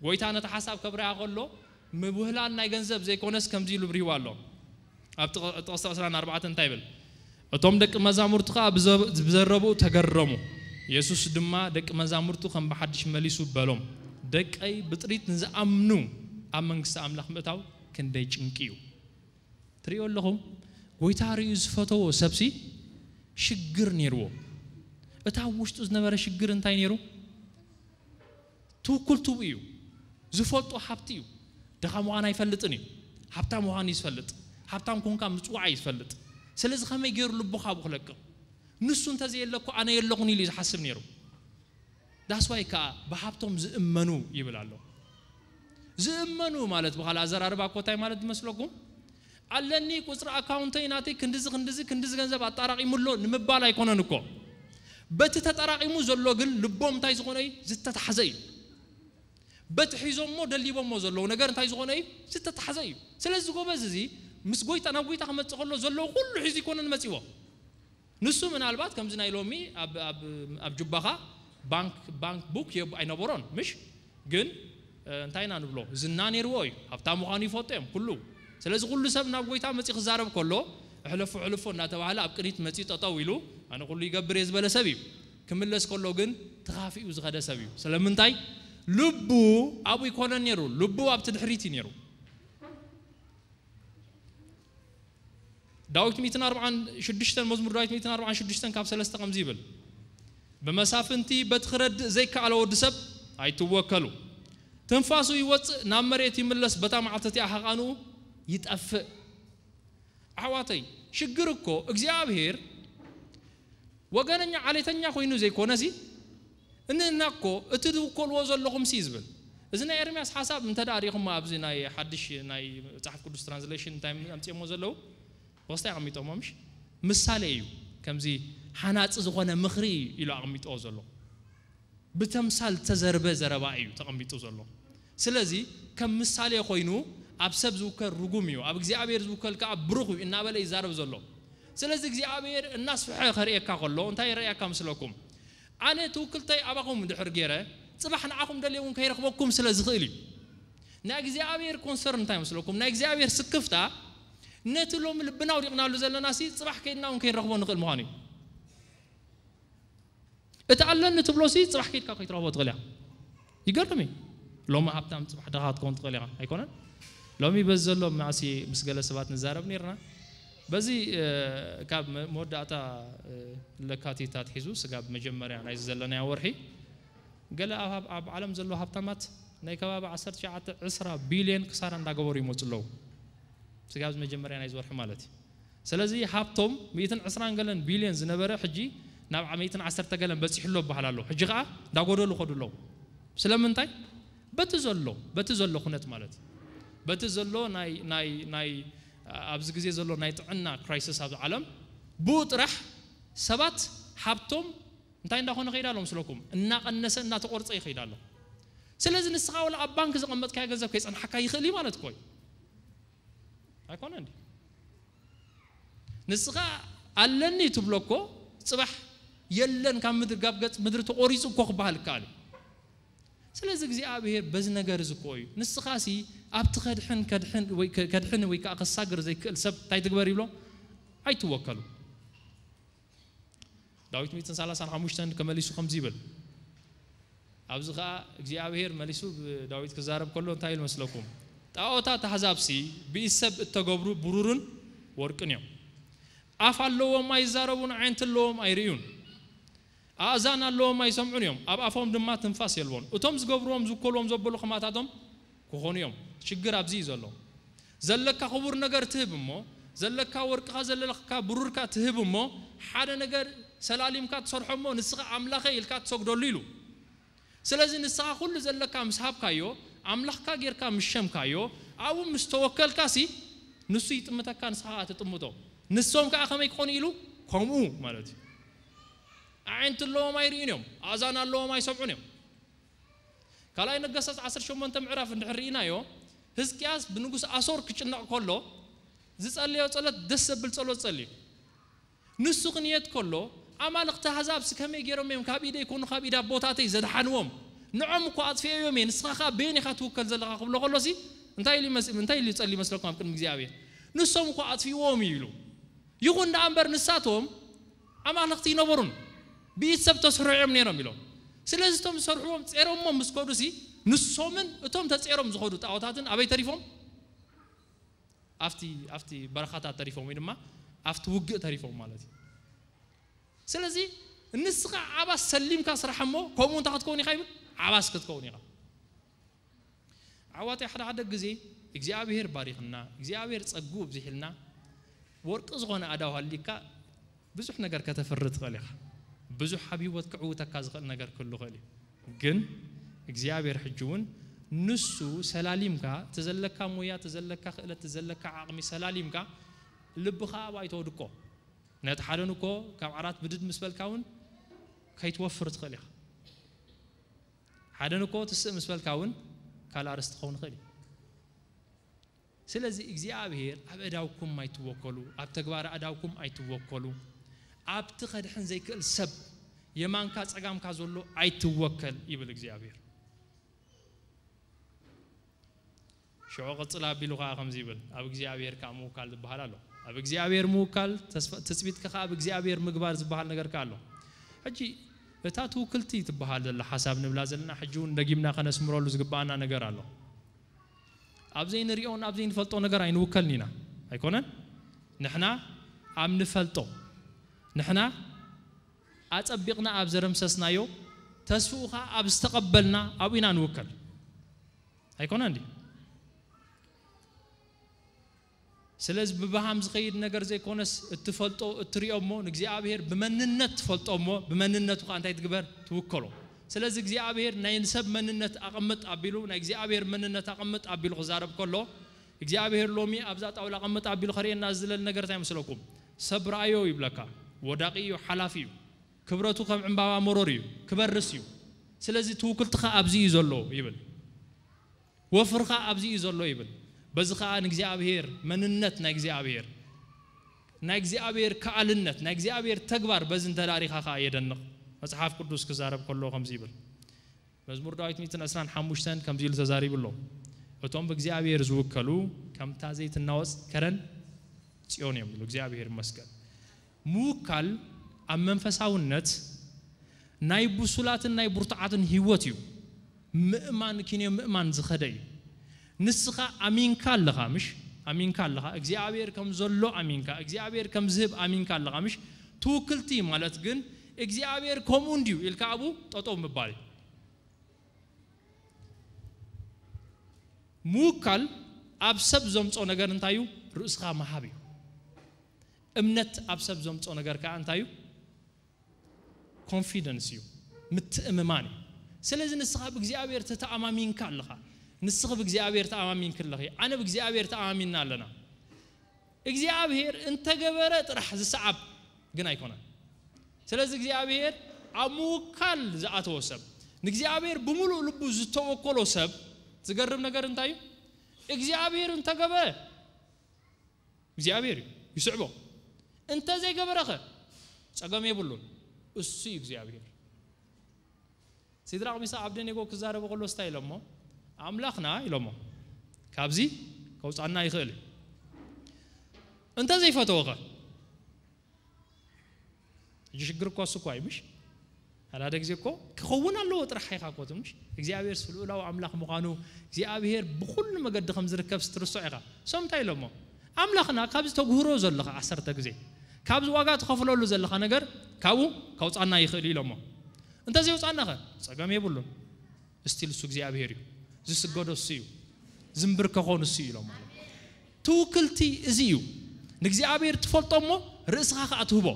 ጎይታ ነቲ ሓሳብ ከብርሃ ከሎ፣ ምብህላል ናይ ገንዘብ ዘይኮነስ ከምዚ ኢሉ ብሪህዋ ኣሎ። ኣብ ጥቕ-፣ ጥቕሲ ዕስራን ኣርባዕተን እንታይ ይብል? እቶም ደቂ መዛሙርቱ ኸኣ ብዘ-፣ ብዘረብኡ ተገረሙ። የሱስ ድማ ደቂ መዛሙርቱ ከም ብሓድሽ መሊሱ በሎም፣ ደቀይ ብጥሪት ንዝኣምኑ ኣብ መንግስቲ ኣምላኽ ምእታው ክንደይ ጭንቂ እዩ። ትርእዮ ኣለኹም? ጎይታ ርእዩ ዝፈተዎ ሰብሲ ሽግር ነይርዎ። እታ ኣብ ውሽጡ ዝነበረ ሽግር እንታይ ነይሩ? ትውክልትኡ እዩ። ዝፈልጦ ሃብቲ እዩ። ድኻ ምዃን ኣይፈልጥን እዩ። ሃብታም ምዃን እዩ ዝፈልጥ። ሃብታም ኮንካ ምጽዋዕ እዩ ዝፈልጥ። ስለዚ ከመይ ገይሩ ልቡ ካብኡ ክለቅቕ? ንሱ እንተዘየለ እኮ ኣነ የለኹን ኢሉ እዩ ዝሓስብ ነይሩ። ዳስዋይ ከዓ ብሃብቶም ዝእመኑ ይብል ኣሎ። ዝእመኑ ማለት ብኻልእ ኣዘራርባ እኮ እንታይ ማለት ዝመስለኩም? ኣለኒ ቁፅሪ ኣካውንተይ ናተይ ክንድዚ ክንድዚ ክንድዚ ገንዘብ ኣጣራቒሙ ኣሎ ንምባል ኣይኮነን እኮ። በቲ ተጠራቒሙ ዘሎ ግን ልቦም እንታይ ዝኾነ እዩ? ዝተታሕዘ እዩ። በቲ ሒዞሞ ደሊቦሞ ዘለዉ ነገር እንታይ ዝኾነ እዩ? ዝተታሕዘ እዩ። ስለዚ ጎበዝ እዚ ምስ ጎይታ፣ ናብ ጎይታ ክመጽእ ከሎ ዘለዎ ኩሉ ሒዙ ይኮነን መጺዎ። ንሱ ምናልባት ከምዚ ናይ ሎሚ ኣብ፣ ኣብ፣ ኣብ ጁባኻ ባንክ፣ ባንክ ቡክ የብ-፣ ኣይነበሮን፣ ምሽ? ግን፣ እ፣ እንታይ ኢና ንብሎ? ዝና ነይርዎ እዩ። ሃብታም ምዃኑ ይፈልጡ እዮም፣ ኩሉ። ስለዚ ኩሉ ሰብ ናብ ጎይታ መጺኡ ክዛረብ ከሎ፣ "እሕለፎ፣ እሕልፎ" እናተባህለ ኣብ ቅድሚት መጺኡ ጠጠው ኢሉ፣ "ኣነ ኩሉ ይገብር እየ" ዝበለ ሰብ እዩ። ክምለስ ከሎ ግን ተኻፊኡ ዝኸደ ሰብ እዩ። ስለምንታይ? ልቡ ኣብኡ ይኮነን ነይሩ፣ ልቡ ኣብቲ ድሕሪት እዩ ነይሩ። ዳዊት ሚእትን ኣርባዓን ሽዱሽተን፣ መዝሙር ዳዊት ሚእትን ኣርባዓን ሽዱሽተን ካብ ሰለስተ ከምዚ ይብል፣ "ብመሳፍንቲ በቲ ክረድእ ዘይከኣለ ወዲ ሰብ ኣይትወከሉ። ትንፋሱ ይወጽእ፣ ናብ መሬት ይምለስ፣ በታ መዓልቲ እቲኣ ሕቓንኡ ይጠፍእ።" ኣሕዋተይ፣ ሽግር እኮ እግዚኣብሔር ወገነኛ ዓሌተኛ ኮይኑ ዘይኮነሲ፣ እንህና እኮ እቲ ትውከልዎ ዘለኹም ሲ ዝብል። እዚ ናይ ኤርምያስ ሓሳብ እንተ ደኣ ርኢኹሞ ኣብዚ ናይ ሓድሽ ናይ መጽሓፍ ቅዱስ ትራንስሌሽን እንታይ ኣምጺኦሞ ዘለዉ? ወስታይ ኣቐሚጦሞ ምሽ? ምሳሌ እዩ። ከምዚ ሓናጺ ዝኾነ ምኽሪ እዩ ኢሉ ኣቐሚጥዎ ዘሎ። ብተምሳል ተዘርበ ዘረባ እዩ ተቐሚጡ ዘሎ። ስለዚ ከም ምሳሌ ኮይኑ ኣብ ሰብ ዝውከል ርጉም እዩ፣ ኣብ እግዚኣብሔር ዝውከል ከኣ ብሩኽ እዩ እናበለ ይዛረብ ዘሎ። ስለዚ እግዚኣብሔር እናስፍሐ ከርእየካ ከሎ እንታይ ይረኣየካ ምስለኩም? ኣነ ትውክልተይ ኣባኹም እንድሕር ገይረ፣ ጽባሕ ንዓኹም ደልየ እውን ከይረኽበኩም ስለ ዝኽእል እዩ። ናይ እግዚኣብሔር ኮንሰርን እንታይ መስለኩም? ናይ እግዚኣብሔር ስክፍታ ነቲ ሎሚ ልብና ኣውዲቕናሉ ዘለናሲ ጽባሕ ከይድና እውን ከይንረኽቦ ንኽእል ምዃኑ እዩ። እቲ ኣለኒ ትብሎሲ ጽባሕ ከይድካ ከይትረኽቦ ትኽእል ኢኻ። ይገርም እዩ። ሎሚ ሃብታም ጽባሕ ድኻ ክትከውን ትኽእል ኢኻ። ኣይኮነን? ሎሚ በዚ ዘሎ መዓሲ ምስ ገለ ሰባት ንዛረብ ነይርና። በዚ፣ እ፣ ካብ መ-፣ መወዳእታ፣ እ፣ ለካቲት ኣትሒዙ ስጋብ መጀመርያ ናይዚ ዘለናዮ ወርሒ፣ ገለ ኣብ፣ ኣብ ዓለም ዘለዉ ሃብታማት ናይ ከባቢ ዓሰርተ ትሽዓተ ዕስራ ቢልዮን ክሳራ እንዳገበሩ ይመጹ ኣለዉ። ስጋብ መጀመርያ ናይዚ ወርሒ ማለት እዩ። ስለዚ ሃብቶም ሚእትን ዕስራን ገለን ቢልዮን ዝነበረ ሕጂ ናብ ሚእትን ዓሰርተ ገለን በጺሑ ኣሎ ይበሃል ኣሎ። ሕጂ ከኣ እንዳጎደሉ ይኸዱ ኣለዉ። ስለምንታይ? በቲ ዘሎ፣ በቲ ዘሎ ኩነት ማለት እዩ። በቲ ዘሎ ናይ፣ ናይ፣ ናይ፣ ኣብዚ ግዜ ዘሎ ናይ ጥዕና ክራይሲስ ኣብዚ ዓለም ብኡ ጥራሕ ሰባት ሃብቶም እንታይ እንዳኾነ ይኸይድ ኣሎ ምስለኩም? እናቐነሰ፣ እናተቖርጸ ይኸይድ ኣሎ። ስለዚ ንስኻ ወላ ኣብ ባንክ ዘቐመጥካዮ ገንዘብ ከይጸንሓካ ይኽእል እዩ ማለት እኮ እዩ። ኣይኮነ እንዲ? ንስኻ ኣለኒ ትብሎ እኮ ጽባሕ የለን፣ ካብ ምድሪ፣ ካብ ገጽ ምድሪ ተቆሪጹ እኮ ክበሃል ይከኣል እዩ። ስለዚ እግዚኣብሔር በዚ ነገር እዚ እኮ እዩ። ንስኻሲ ኣብቲ ከድሕን፣ ከድሕን ወይ ከ-፣ ከድሕን ወይ ከኣ ከሳግር ዘይክእል ሰብ እንታይ ትግበር ይብሎ? ኣይትወከሉ። ዳዊት ሚእትን ሰላሳን ሓሙሽተን ከመሊሱ ከምዚ ይብል። ኣብዚ ኸኣ እግዚኣብሔር መሊሱ ብዳዊት ክዛረብ ከሎ እንታይ ኢሉ መስለኩም? ጣዖታት ኣሕዛብሲ ብኢድ ሰብ እተገብሩ ብሩርን ወርቅን እዮም። ኣፍ ኣለዎም ኣይዛረቡን፣ ኣዒንቲ ኣለዎም ኣይርእዩን። ኣእዛን ኣለዎም ኣይሰምዑን እዮም፣ ኣብ ኣፎም ድማ ትንፋስ የልቦን። እቶም ዝገብርዎም ዝውከልዎም ዘበሉ ከማታቶም ክኾኑ እዮም። ሽግር ኣብዚ እዩ ዘሎ። ዘለካ ክቡር ነገር ትህብ እሞ፣ ዘለካ ወርቅኻ ዘለካ ብሩርካ ትህብ እሞ፣ ሓደ ነገር ሰላሊምካ ትሰርሖ እሞ፣ ንስኻ ኣምላኸ ኢልካ ትሰግደሉ ኢሉ። ስለዚ ንስኻ ኩሉ ዘለካ ምስ ሃብካዮ፣ ኣምላኽካ ጌርካ ምስ ሸምካዮ፣ ኣብኡ ምስ ተወከልካሲ፣ ንሱ ይጥምተካ፣ ንስኻ ከኣ ትጥምቶ። ንሶም ከኣ ከመይ ክኾኑ ኢሉ? ከምኡ ማለት እዩ። ኣዒንቲ ኣለዎም ኣይርእዩን እዮም፣ ኣእዛን ኣለዎም ኣይሰምዑን እዮም። ካልኣይ ነገስታት ዓሰርተ ሸሞንተ ምዕራፍ እንድሕር ርኢናዮ፣ ህዝቅያስ ብንጉስ ኣሶር ክጭነቕ ከሎ ዝጸለዮ ጸሎት ደስ ዘብል ጸሎት ጸልዩ። ንሱ ክንየት ከሎ፣ ኣማልኽቲ ኣህዛብሲ ከመይ ገይሮም እዮም ካብ ኢደይ ኮኑ ካብ ኢድ ኣቦታተይ ዘድሓንዎም? ንዖም እኮ ኣጥፊኤዮም እየ፣ ንስኻ ከኣ በየን ኢኻ ትውከል ዘለኻ ክብሎ ከሎሲ እንታይ ኢሉ ይመስ-፣ እንታይ ኢሉ ይጸሊ ይመስለኩም ኣብ ቅድሚ እግዚኣብሔር? ንሶም እኮ ኣጥፊእዎም እዩ ኢሉ። ይኹን ደኣ እምበር ንሳቶም ኣማልኽቲ ይነበሩን ብኢድ ሰብ ተስርሑ እዮም ነይሮም ኢሎም። ስለዚ እቶም ዝሰርሕዎም ጼሮሞ ምስ ከዱሲ ንሶምን እቶም ተጼሮም ዝኸዱ ጣዖታትን ኣበይ ተሪፎም? ኣብቲ፣ ኣብቲ በረኻታት ተሪፎም ወይ ድማ ኣብቲ ውግእ ተሪፎም ማለት እዩ። ስለዚ ንስኻ ዓባስ ሰሊምካ ስራሕ እሞ ከምኡ እንታይ ክትከውን ኢኻ ይብል? ዓባስ ክትከውን ኢኻ። ዓዋተይ ሓደ ሓደ ግዜ እግዚኣብሔር ባሪኽና፣ እግዚኣብሔር ጸግኡ ኣብዚሕልና፣ ወርቂ ዝኾነ ኣእዳው ሃሊካ ብዙሕ ነገር ከተፍሪ ትኽእል ኢኻ። ብዙሕ ኣብ ህይወት ክዕውተካ ዝኽእል ነገር ክህሉ ይኽእል እዩ። ግን እግዚኣብሔር ሕጂ እውን ንሱ ሰላሊምካ፣ እቲ ዘለካ ሞያ፣ እቲ ዘለካ ክእለት፣ እቲ ዘለካ ዓቕሚ ሰላሊምካ፣ ልብኻ ኣብኡ ኣይተውድቆ። ነቲ ሓደን እኮ ካብ ዓራት ብድድ ምስ በልካ እውን ከይትወፍር ትኽእል ኢኻ። ሓደን እኮ ትስእ ምስ በልካ እውን ካልእ ኣርእስቲ ክኸውን ይኽእል እዩ። ስለዚ እግዚኣብሔር ኣብ ኣእዳውኩም ኣይትወከሉ፣ ኣብ ተግባር ኣእዳውኩም ኣይትወከሉ። ኣብቲ ከድሕን ዘይክእል ሰብ የማንካ ጸጋምካ ዘሎ ኣይትወከል ይብል እግዚኣብሔር። ሽዑ ቅጽል ኣቢሉ ኸኣ ከምዚ ይብል፣ ኣብ እግዚኣብሔር ከኣ ምውካል ዝበሃል ኣሎ። ኣብ እግዚኣብሔር ምውካል፣ ተስፋ-፣ ትጽቢትካ ኸኣ ኣብ እግዚኣብሔር ምግባር ዝበሃል ነገር ከኣ ኣሎ። ሕጂ እታ ትውክልቲ ትበሃል ዘላ ሓሳብ ንብላ ዘለና፣ ሕጂ እውን ደጊምና ከነስምረሉ ዝግብኣና ነገር ኣሎ። ኣብ ዘይንሪኦን ኣብ ዘይንፈልጦ ነገር ኣይንውከልን ኢና፣ ኣይኮነን? ንሕና ኣብ ንፈልጦ፣ ንሕና ኣጸቢቕና ኣብ ዘረምሰስናዮ፣ ተስፍኡ ኸኣ ኣብ ዝተቐበልና ኣብኡ ኢና ንውከል። ኣይኮነን ድዩ? ስለዚ ብብሃም ዝኸይድ ነገር ዘይኮነስ፣ እትፈልጦ፣ እትሪኦ እሞ ንእግዚኣብሔር ብመንነት ትፈልጦ እሞ፣ ብመንነቱ ኸኣ እንታይ ትግበር? ትውከሎ። ስለዚ እግዚኣብሔር ናይ ሰብ መንነት ኣቐምጥ ኣቢሉ፣ ናይ እግዚኣብሔር መንነት ኣቐምጥ ኣቢሉ ክዛረብ ከሎ፣ እግዚኣብሔር ሎሚ ኣብዛ ጣውላ ኣቐምጥ ኣቢሉ ከርእየና ዝደለል ነገር እንታይ ይመስለኩም? ሰብ ረኣዮ ይብለካ፣ ወዳቂ እዩ፣ ሓላፊ እዩ። ክብረቱ ከም ዕምባባ መሮር እዩ፣ ክበርስ እዩ። ስለዚ ትውክልትኻ ኣብዚ እዩ ዘሎ ይብል። ወፍርኻ ኣብዚ እዩ ዘሎ ይብል። በዚ ኸኣ ንእግዚኣብሔር መንነት ናይ እግዚኣብሔር፣ ናይ እግዚኣብሔር ከኣልነት፣ ናይ እግዚኣብሔር ተግባር በዚ እንተዳሪኻ ኸኣ የደንቕ። መጽሓፍ ቅዱስ ክዛረብ ከሎ ከምዚ ይብል። መዝሙር ዳዊት ሚእትን ዕስራን ሓሙሽተን ከምዚ ኢሉ ተዛሪቡ ኣሎ። እቶም ብእግዚኣብሔር ዝውከሉ ከምታ ዘይትናወጽ ከረን ጽዮን እዮም ኢሉ። እግዚኣብሔር ይመስገን። ምውካል ኣብ መንፈሳውነት ናይ ብሱላትን ናይ ብርቱዓትን ህይወት እዩ። ምእማን ኪንዮ ምእማን ዝኸደ እዩ። ንስኻ ኣሚንካ ኣለኻ፣ ምሽ? ኣሚንካ ኣለኻ። እግዚኣብሔር ከም ዘሎ ኣሚንካ፣ እግዚኣብሔር ከም ዝህብ ኣሚንካ ኣለኻ፣ ምሽ? ትውክልቲ ማለት ግን እግዚኣብሔር ከምኡ እንድዩ ኢልካ ኣብኡ ጠጠው ምባል እዩ። ምውካል ኣብ ሰብ ዘምጾ ነገር እንታይ እዩ? ርእስኻ ምሃብ እዩ። እምነት ኣብ ሰብ ዘምጾ ነገር ከኣ እንታይ እዩ? ኮንፊደንስ እዩ፣ ምትእምማን እዩ። ስለዚ ንስኻ ብእግዚኣብሔር ተተኣማሚንካ ኣለኻ። ንስኺ ብእግዚኣብሔር ተኣማሚንኪ ኣለኺ። ኣነ ብእግዚኣብሔር ተኣማሚንና ኣለና። እግዚኣብሔር እንተገበረ ጥራሕ ዝሰዓብ ግን ኣይኮነን። ስለዚ እግዚኣብሔር ኣብ ምውካል ዝኣተወ ሰብ፣ ንእግዚኣብሔር ብምሉእ ልቡ ዝተወከሎ ሰብ፣ ዝገርም ነገር እንታይ እዩ? እግዚኣብሔር እንተገበረ እግዚኣብሔር እዩ፣ ይስዕቦ። እንተ ዘይገበረኸ ጸገም የብሉን። እሱ እዩ እግዚኣብሔር። ሲድራቅ ሚሳቅ ኣብደኔጎ ክዛረቡ ከሎ ስታይ ኢሎሞ? ኣምላኽና ኢሎሞ። ካብዚ ከውፃና ይኽእል እዩ። እንተ ዘይፈተወኸ? ሕጂ ሽግር እኮ እሱ እኮ እዩ ምሽ? ሓደ ግዜ እኮ ክኸውን ኣለዎ ጥራሕ ኢኻ እኮ ትምሽ? እግዚኣብሔር ስልኡላዊ ኣምላኽ ምዃኑ፣ እግዚኣብሔር ብኹሉ መገዲ ከም ዝርከብ ስትርሶ ኢኻ። ሶም እንታይ ኢሎሞ? ኣምላኽና ካብዚ ተግህሮ ዘለኻ ዓሰርተ ግዜ፣ ካብዚ ዋጋ ትኸፍለሉ ዘለኻ ነገር ካብኡ ከውፃና ይኽእል እዩ ኢሎሞ። እንተዘይውፃናኸ? ፀገም የብሉን። እስቲል እሱ እግዚኣብሔር እዩ። ዝስገዶ እሱ እዩ። ዝንብርከኾ ንሱ እዩ ኢሎም ማለት። ትውክልቲ እዚ እዩ። ንእግዚኣብሔር ትፈልጦ እሞ ርእስኻ ከኣ ትህቦ።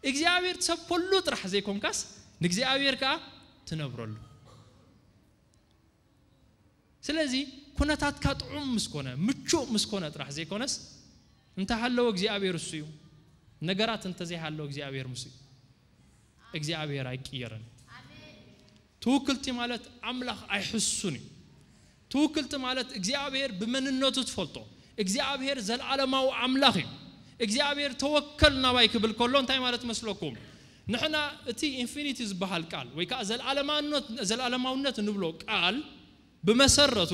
እግዚኣብሔር ትሰብከሉ ጥራሕ ዘይኮንካስ ንእግዚኣብሔር ከኣ ትነብረሉ። ስለዚ ኩነታትካ ጥዑም ምስ ኮነ፣ ምቹእ ምስ ኮነ ጥራሕ ዘይኮነስ፣ እንተ ሃለወ እግዚኣብሔር እሱ እዩ። ነገራት እንተ ዘይሃለወ እግዚኣብሔር ምስ እዩ። እግዚኣብሔር ኣይቅየርን። ትውክልቲ ማለት ኣምላኽ ኣይሕሱን እዩ። ትውክልቲ ማለት እግዚኣብሔር ብመንነቱ ትፈልጦ። እግዚኣብሔር ዘለዓለማዊ ኣምላኽ እዩ። እግዚኣብሔር ተወከል ናባይ ክብል ከሎ እንታይ ማለት መስለኩም? ንሕና እቲ ኢንፊኒቲ ዝበሃል ቃል ወይ ከዓ ዘለዓለማውነት እንብሎ ቃል ብመሰረቱ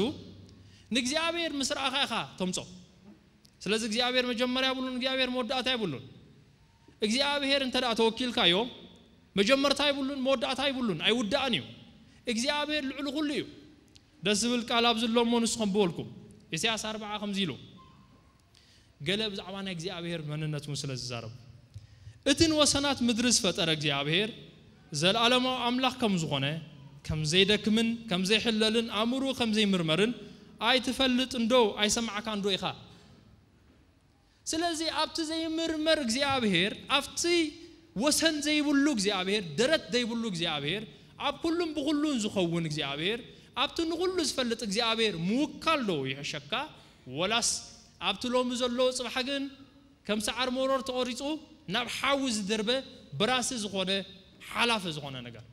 ንእግዚኣብሔር ምስ ረኣኻ ኢኻ ተምጾ። ስለዚ እግዚኣብሔር መጀመርያ የብሉን፣ እግዚኣብሔር መወዳእታ የብሉን። እግዚኣብሔር እንተ ደኣ ተወኪልካዮ መጀመርታ የብሉን፣ መወዳእታ የብሉን፣ ኣይውዳእን እዩ። እግዚኣብሔር ልዕሊ ኩሉ እዩ። ደስ ዝብል ቃል ኣብዚ ኣሎ እሞ ንስኹም ብወልኩም። ኢሳያስ ኣርብዓ ከምዚ ኢሉ ገለ ብዛዕባ ናይ እግዚኣብሔር መንነት እውን ስለ ዝዛረብ፣ እቲ ንወሰናት ምድሪ ዝፈጠረ እግዚኣብሔር ዘለዓለማዊ ኣምላኽ ከም ዝኾነ፣ ከም ዘይደክምን ከም ዘይሕለልን ኣእምርኡ ከም ዘይምርመርን ኣይትፈልጥን ዶ ኣይሰማዕካን ዶ ኢኻ? ስለዚ ኣብቲ ዘይምርመር እግዚኣብሔር፣ ኣብቲ ወሰን ዘይብሉ እግዚኣብሔር፣ ደረት ዘይብሉ እግዚኣብሔር፣ ኣብ ኩሉን ብኹሉን ዝኸውን እግዚኣብሔር፣ ኣብቲ ንኹሉ ዝፈልጥ እግዚኣብሔር ምውካል ዶ ይሕሸካ? ወላስ ኣብቲ ሎሚ ዘሎ ጽባሕ ግን ከም ሰዓር መሮር ተቖሪጹ ናብ ሓዊ ዝደርበ በራሲ ዝኾነ ሓላፊ ዝኾነ ነገር?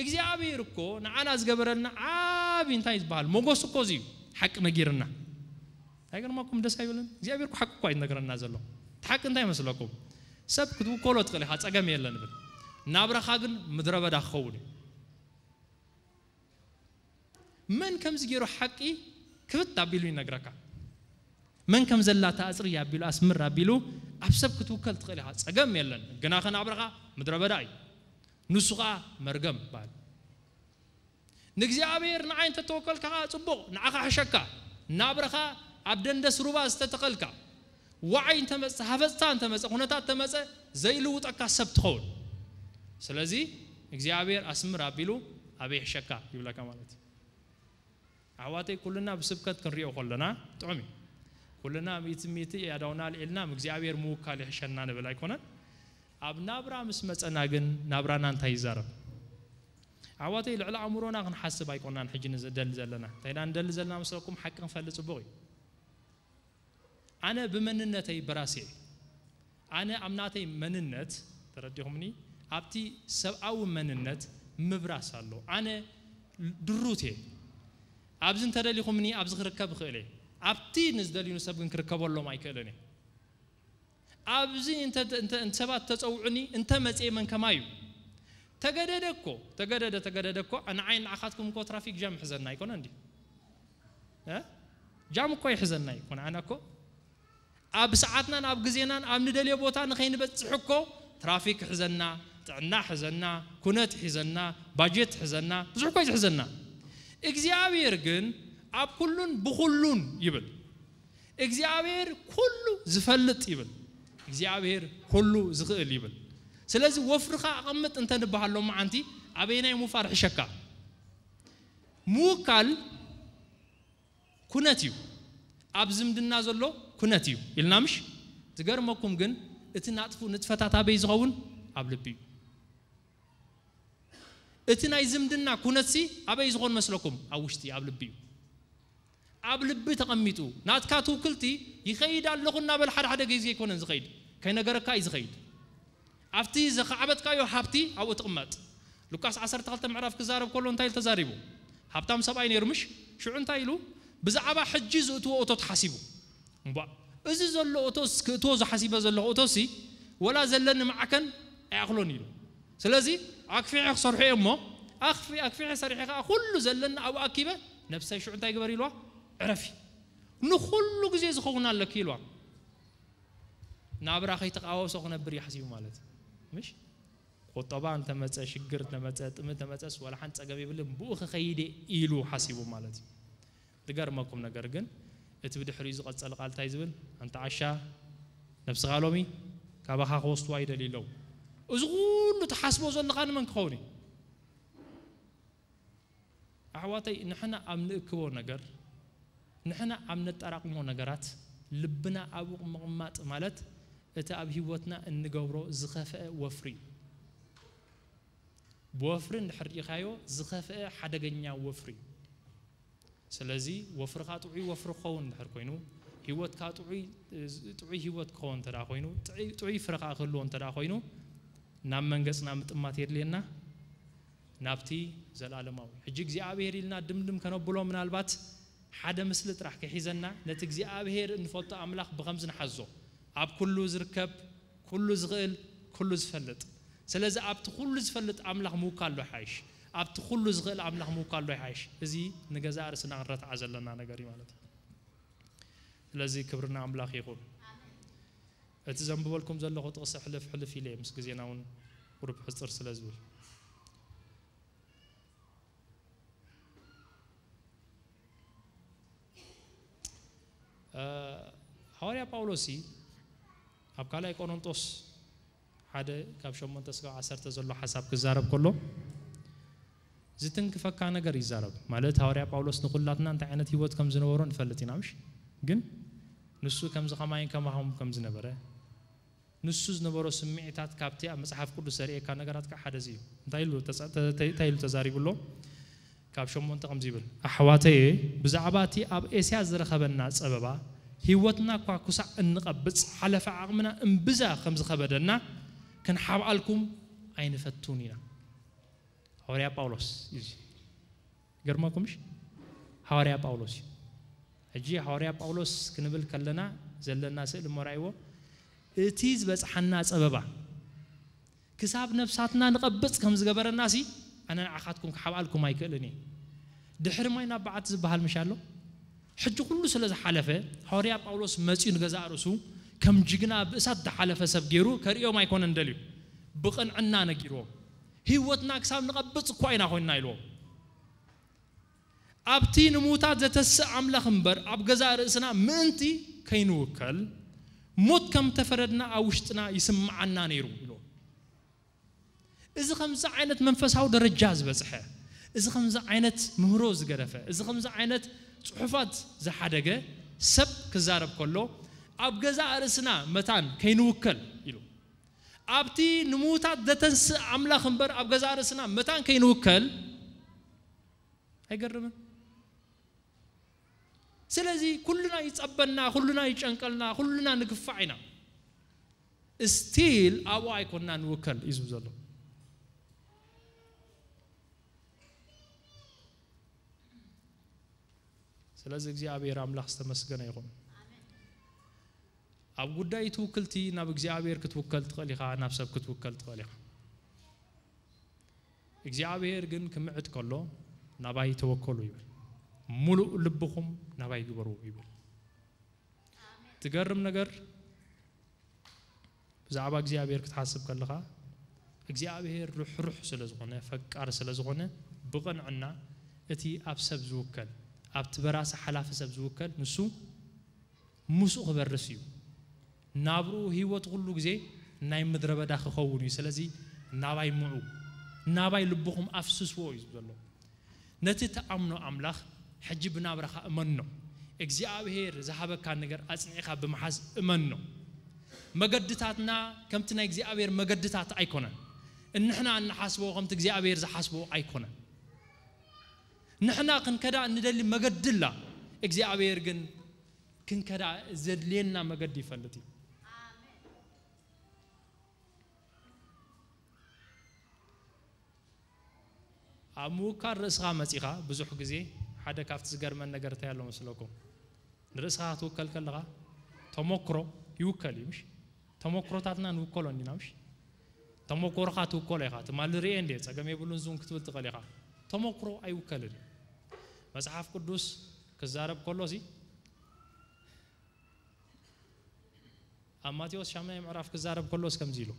እግዚኣብሔር እኮ ንዓና ዝገበረልና ዓቢ እንታይ ዝበሃል ሞጎስ እኮ እዚ እዩ። ሓቂ ነጊርና። ኣይገርመኩም? ደስ ኣይብልን? እግዚኣብሔር እኮ ሓቂ እኮ እዩ ዝነግረና ዘሎ። እቲ ሓቂ እንታይ ይመስለኩም? ሰብ ክትውከሎ ትኽእል ኢኻ፣ ጸገም የለን ብል። ናብራኻ ግን ምድረ በዳ ክኸውን እዩ። መን ከምዚ ገይሩ ሓቂ ክብት ኣቢሉ ይነግረካ? መን ከም ዘላ ተኣጽሪ ኣቢሉ ኣስምር ኣቢሉ ኣብ ሰብ ክትውከል ትኽእል ኢኻ፣ ጸገም የለን። ግና ከ ናብራኻ ምድረ በዳ እዩ። ንሱ ኸኣ መርገም ይበሃል። ንእግዚኣብሔር ንዓይ እንተተወከልካ ኸኣ ጽቡቕ፣ ንዓኻ ሕሸካ። ናብራኻ ኣብ ደንደስ ሩባ ዝተተኸልካ፣ ዋዓይ እንተመጸ፣ ሃፈጽታ እንተመጸ፣ ኩነታት እንተመጸ፣ ዘይልውጠካ ሰብ ትኸውን። ስለዚ እግዚኣብሔር ኣስምር ኣቢሉ ኣበይ ሕሸካ ይብለካ ማለት እዩ። ኣሕዋተይ፣ ኩልና ብስብከት ክንሪኦ ከለና ጥዑም እዩ። ኩልና ሚእቲ ሚእቲ ያዳውና ኣልዒልና፣ "እም እግዚኣብሔር ምውካል ይሕሸና" ንብል ኣይኮነን። ኣብ ናብራ ምስ መጸና ግን ናብራና እንታይ ይዛረብ? ኣሕዋተይ፣ ልዕሊ ኣእምሮና ክንሓስብ ኣይኮናን ሕጂ ንደሊ ዘለና። እንታይ ኢና ንደሊ ዘለና መስለኩም? ሓቂ ክንፈልጥ ጽቡቕ እዩ። ኣነ ብመንነተይ በራሲ እየ። ኣነ ኣብ ናተይ መንነት፣ ተረዲኹምኒ? ኣብቲ ሰብኣዊ መንነት ምብራስ ኣሎ። ኣነ ድሩት እየ። ኣብዚ እንተደሊኹምኒ ኣብዚ ክርከብ እኽእል እየ። ኣብቲ ንዝደልዩኒ ሰብ ግን ክርከበሎም ኣይክእልን እየ። ኣብዚ እንተ፣ እንተ፣ እንተ ሰባት ተጸውዑኒ እንተ መጽየ መን ከማይ እዩ? ተገደደ እኮ፣ ተገደደ፣ ተገደደ እኮ፣ ንዓይ ንዓኻትኩም እኮ ትራፊክ ጃም ይሕዘና ኣይኮነ እንዲ? እ? ጃም እኮ ይሕዘና እዩ እኮ፣ ንዓና እኮ ኣብ ሰዓትናን ኣብ ግዜናን ኣብ ንደልዮ ቦታ ንኸይንበጽሕ እኮ ትራፊክ ይሕዘና፣ ጥዕና ይሕዘና፣ ኩነት ይሕዘና፣ ባጀት ይሕዘና፣ ብዙሕ እኮ እዩ ዝሕዘና። እግዚኣብሔር ግን ኣብ ኩሉን ብኹሉን ይብል። እግዚኣብሔር ኩሉ ዝፈልጥ ይብል። እግዚኣብሔር ኩሉ ዝኽእል ይብል። ስለዚ ወፍርኻ ኣቐምጥ እንተ ንበሃል ሎማዓንቲ ኣበየናይ ምውፋር ሕሸካ? ምውካል ኩነት እዩ። ኣብ ዝምድና ዘሎ ኩነት እዩ ኢልና ምሽ? ዝገርመኩም ግን እቲ ናጥፉ ንጥፈታት ኣበይ ዝኸውን? ኣብ ልቢ እዩ። እቲ ናይ ዝምድና ኩነትሲ ኣበይ ዝኾን መስለኩም? ኣብ ውሽጢ፣ ኣብ ልቢ እዩ። ኣብ ልቢ ተቐሚጡ ናትካ ትውክልቲ ይኸይድ ኣለኹ እናበል ሓደ ሓደ ግዜ ኣይኮነን ዝኸይድ፣ ከይነገረካ እዩ ዝኸይድ። ኣብቲ ዘኻዕበጥካዮ ሃብቲ ኣብኡ ትቕመጥ። ሉቃስ ዓሰርተ ክልተ ምዕራፍ ክዛረብ ከሎ እንታይ ኢሉ ተዛሪቡ? ሃብታም ሰብኣይ ነይሩ ምሽ? ሽዑ እንታይ ኢሉ? ብዛዕባ ሕጂ ዝእትዎ እቶት ሓሲቡ። እምቧእ፣ እዚ ዘሎ እቶስ፣ ክእትዎ ዝሓሲበ ዘለኹ እቶሲ፣ ወላ ዘለኒ ማዕከን ኣይኣኽሎን ኢሉ። ስለዚ ኣክፊዐ ክሰርሖ እየ እሞ ኣክፊ ኣክፊዐ ሰሪሐ ከዓ ኩሉ ዘለና ኣብኡ ኣኪበ ነብሰይ ሽዑ እንታይ ግበር ኢልዋ? ዕረፊ። ንኹሉ ግዜ ዝኸውን ኣለኪ ኢልዋ። ናብራ ከይተቃወሶ ክነብር እዩ ሓሲቡ ማለት እዩ። ምሽ ቁጠባ እንተመፀ ሽግር እንተመፀ ጥሚ እንተመፀስ ዋላ ሓንቲ ፀገም የብልን ብኡ ክኸይደ ኢሉ ሓሲቡ ማለት እዩ። ዝገርመኩም ነገር ግን እቲ ብድሕሪኡ ዝቐጸለ ቃል እንታይ ዝብል? ኣንታ ዓሻ ነብስኻ ሎሚ ካባኻ ክወስድዋ ይደልዩ ኣለዉ። እዚ ኩሉ ትሓስቦ ዘለኻ ንመን ክኸውን እዩ? ኣሕዋተይ ንሕና ኣብ ንእክቦ ነገር ንሕና ኣብ ነጠራቕሞ ነገራት ልብና ኣብኡ ምቕማጥ ማለት እቲ ኣብ ህይወትና እንገብሮ ዝኸፍአ ወፍሪ እዩ። ብወፍሪ እንድሕር ርኢኻዮ ዝኸፍአ ሓደገኛ ወፍሪ እዩ። ስለዚ ወፍርኻ ጥዑይ ወፍሪ ክኸውን እንድሕር ኮይኑ ህይወትካ ጥዑይ ጥዑይ ህይወት ክኸውን እንተ ኮይኑ ጥዑይ ፍረ ከዓ ክህልዎ እንተ ኮይኑ ናብ መንገፅና ምጥማት የድልየና ናብቲ ዘለኣለማዊ ሕጂ እግዚኣብሔር ኢልና ድምድም ከነብሎ ምናልባት ሓደ ምስሊ ጥራሕ ክሒዘና ነቲ እግዚኣብሔር እንፈቱ ኣምላኽ ብኸምዚ ንሓዞ ኣብ ኩሉ ዝርከብ ኩሉ ዝኽእል ኩሉ ዝፈልጥ ስለዚ ኣብቲ ኩሉ ዝፈልጥ ኣምላኽ ምውካል ዶ ይሓይሽ ኣብቲ ኩሉ ዝኽእል ኣምላኽ ምውካል ዶ ይሓይሽ እዚ ንገዛእ ርእስና ክንረትዓ ዘለና ነገር እዩ ማለት እዩ ስለዚ ክብርና ኣምላኽ ይኹን እቲ ዘንብበልኩም ዘለኹ ጥቕሲ ሕልፍ ሕልፍ ኢለ ምስ ግዜና እውን ቁሩብ ሕፅር ስለ ዝብል ሃዋርያ ጳውሎስ ኣብ ካልኣይ ቆሮንጦስ ሓደ ካብ ሸሞንተ ስጋብ ዓሰርተ ዘሎ ሓሳብ ክዛረብ ከሎ ዝትንክፈካ ነገር ይዛረብ ማለት ሃዋርያ ጳውሎስ ንኩላትና እንታይ ዓይነት ህይወት ከም ዝነበሮ ንፈልጥ ኢና ምሽ ግን ንሱ ከምዚ ከማይን ከማኹም ከም ዝነበረ ንሱ ዝነበሮ ስምዒታት ካብቲ ኣብ መጽሓፍ ቅዱስ ዘርእየካ ነገራት ከዓ ሓደ እዚ እዩ እንታይ ኢሉ እንታይ ኢሉ ተዛሪቡ ኣሎ ካብ ሸሞንተ ከምዚ ይብል ኣሕዋተየ ብዛዕባ እቲ ኣብ ኤስያ ዝረኸበና ጸበባ ህይወትና እኳ ኩሳዕ እንቐብጽ ሓለፈ ዓቕምና እምብዛ ከም ዝኸበደና ክንሓብኣልኩም ኣይንፈቱን ኢና ሃዋርያ ጳውሎስ እዩ ገርመኩምሽ ሃዋርያ ጳውሎስ እዩ ሕጂ ሃዋርያ ጳውሎስ ክንብል ከለና ዘለና ስእል እሞ ራእይዎ እቲ ዝበፅሓና ፀበባ ክሳብ ነብሳትና ንቐብፅ ከም ዝገበረና ሲ ኣነ ንዓኻትኩም ክሓብኣልኩም ኣይክእልን እየ ድሕሪ ማይ ናብ በዓቲ ዝበሃል ምሽ ኣሎ ሕጂ ኩሉ ስለ ዝሓለፈ ሃዋርያ ጳውሎስ መፅኡ ንገዛእ ርእሱ ከም ጅግና ብእሳት ዝሓለፈ ሰብ ገይሩ ከርእዮም ኣይኮነን ደልዩ ብቕንዕና ነጊርዎም ህይወትና ክሳብ ንቐብፅ እኳ ኢና ኮይንና ኢልዎም ኣብቲ ንምዉታት ዘተስእ ኣምላኽ እምበር ኣብ ገዛእ ርእስና ምእንቲ ከይንውከል ሞት ከም ተፈረድና ኣብ ውሽጥና ይስምዓና ነይሩ ኢሉ እዚ ከምዚ ዓይነት መንፈሳዊ ደረጃ ዝበፅሐ እዚ ከምዚ ዓይነት ምህሮ ዝገደፈ እዚ ከምዚ ዓይነት ፅሑፋት ዝሓደገ ሰብ ክዛረብ ከሎ ኣብ ገዛእ ርእስና መታን ከይንውከል ኢሉ ኣብቲ ንምዉታት ዘተንስእ ኣምላኽ እምበር ኣብ ገዛእ ርእስና መታን ከይንውከል ኣይገርምን ስለዚ ኩልና ይጸበና ኩልና ይጨንቀልና ኩልና ንግፋዕ ኢና still ኣብኡ ኣይኮንና ንውከል እዩ ዝብ ዘሎ ስለዚ እግዚኣብሔር ኣምላኽ ዝተመስገነ ይኹን ኣብ ጉዳይ ትውክልቲ ናብ እግዚኣብሔር ክትውከል ትኽእል ኢኻ ናብ ሰብ ክትውከል ትኽእል ኢኻ እግዚኣብሔር ግን ክምዕድ ከሎ ናባይ ተወከሉ ይብል ሙሉእ ልብኹም ናባይ ግበሩ ይብል ትገርም ነገር ብዛዕባ እግዚኣብሔር ክትሓስብ ከለኻ እግዚኣብሔር ርሕሩሕ ስለ ዝኾነ ፈቃር ስለ ዝኾነ ብቕንዕና እቲ ኣብ ሰብ ዝውከል ኣብቲ በራሲ ሓላፊ ሰብ ዝውከል ንሱ ምስኡ ክበርስ እዩ ናብርኡ ህይወት ኩሉ ግዜ ናይ ምድረ በዳ ክኸውን እዩ ስለዚ ናባይ ምዑ ናባይ ልብኹም ኣፍስስዎ እዩ ዘሎ ነቲ ትኣምኖ ኣምላኽ ሕጂ ብናብራኻ እመኖ እግዚኣብሔር ዝሃበካ ነገር ኣጽኒዕኻ ብምሓዝ እመኖ መገድታትና ከምቲ ናይ እግዚኣብሔር መገድታት ኣይኮነን እንሕና እንሓስቦ ከምቲ እግዚኣብሔር ዝሓስቦ ኣይኮነን ንሕና ክንከዳ እንደሊ መገዲ ኣላ እግዚኣብሔር ግን ክንከዳ ዘድልየና መገዲ ይፈልጥ እዩ ኣብ ምውካል ርእስኻ መጺኻ ብዙሕ ግዜ ሓደ ካብቲ ዝገርመን ነገር እንታይ ኣሎ መስለኩም ንርእስኻ ክትውከል ከለኻ ተሞክሮ ይውከል እዩ ምሽ ተሞክሮታትና ንውከሎ እንዲና ምሽ ተመኮርካ ትውከሎ ኢኻ። ትማሊ ርኤ እንዴ ጸገም የብሉን ዙን ክትብል ትኽእል ኢኻ። ተመክሮ ኣይውከልን እዩ። መጽሓፍ ቅዱስ ክዛረብ ከሎ ሲ ኣብ ማቴዎስ ሻምናይ ምዕራፍ ክዛረብ ከሎስ ከምዚ ኢሉ፣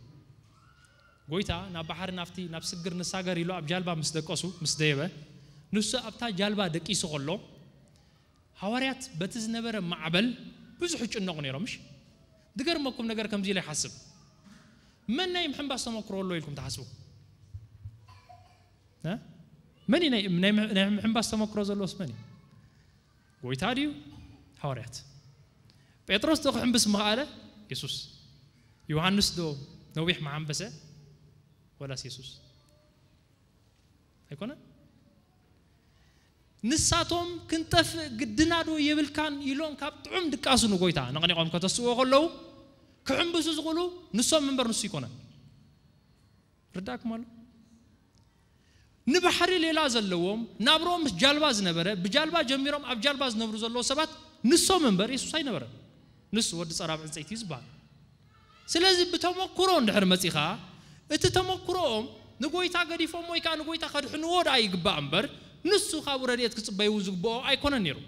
ጎይታ ናብ ባሕሪ ናብቲ ናብ ስግር ንሳገር ኢሉ ኣብ ጃልባ ምስ ደቀሱ ምስ ደየበ፣ ንሱ ኣብታ ጃልባ ደቂሱ ከሎ፣ ሃዋርያት በቲ ዝነበረ ማዕበል ብዙሕ ይጭነቑ ነይሮም። ምሽ ዝገርመኩም ነገር ከምዚ ኢለ ይሓስብ፣ መን ናይ ምሕንባስ ተመክሮ ኣሎ ኢልኩም ትሓስቡ? እ? መን እዩ ናይ ናይ ናይ ምሕንባስ ተመክሮ ዘለዎስ መን እዩ? ጎይታ ድዩ? ሃዋርያት። ጴጥሮስ ዶ ክሕንብስ ምኽኣለ? የሱስ። ዮሃንስ ዶ ነዊሕ መሓንበሰ? ወላስ የሱስ? ኣይኮነ። ንሳቶም ክንጠፍእ ግድና ዶ የብልካን ኢሎም ካብ ጥዑም ድቃሱ ንጎይታ ነቕኒቖም ከተስእዎ ከለዉ፣ ክሕንብሱ ዝኽእሉ ንሶም እምበር ንሱ ኣይኮነን። ርዳእኩም ኣሎ። ንባሕሪ ሌላ ዘለዎም፣ ናብሮም ምስ ጃልባ ዝነበረ፣ ብጃልባ ጀሚሮም ኣብ ጃልባ ዝነብሩ ዘለዉ ሰባት ንሶም እምበር የሱስ ኣይነበረን። ንሱ ወዲ ጸራብ ዕንጸይቲ እዩ ዝበሃል። ስለዚ ብተመክሮ እንድሕር መጺኻ፣ እቲ ተመክሮኦም ንጎይታ ገዲፎም ወይ ከኣ ንጎይታ ከድሕንዎ ደኣ ይግባእ እምበር፣ ንሱ ካብኡ ረድኤት ክጽበዩ ዝግብኦ ኣይኮነን ነይሩ።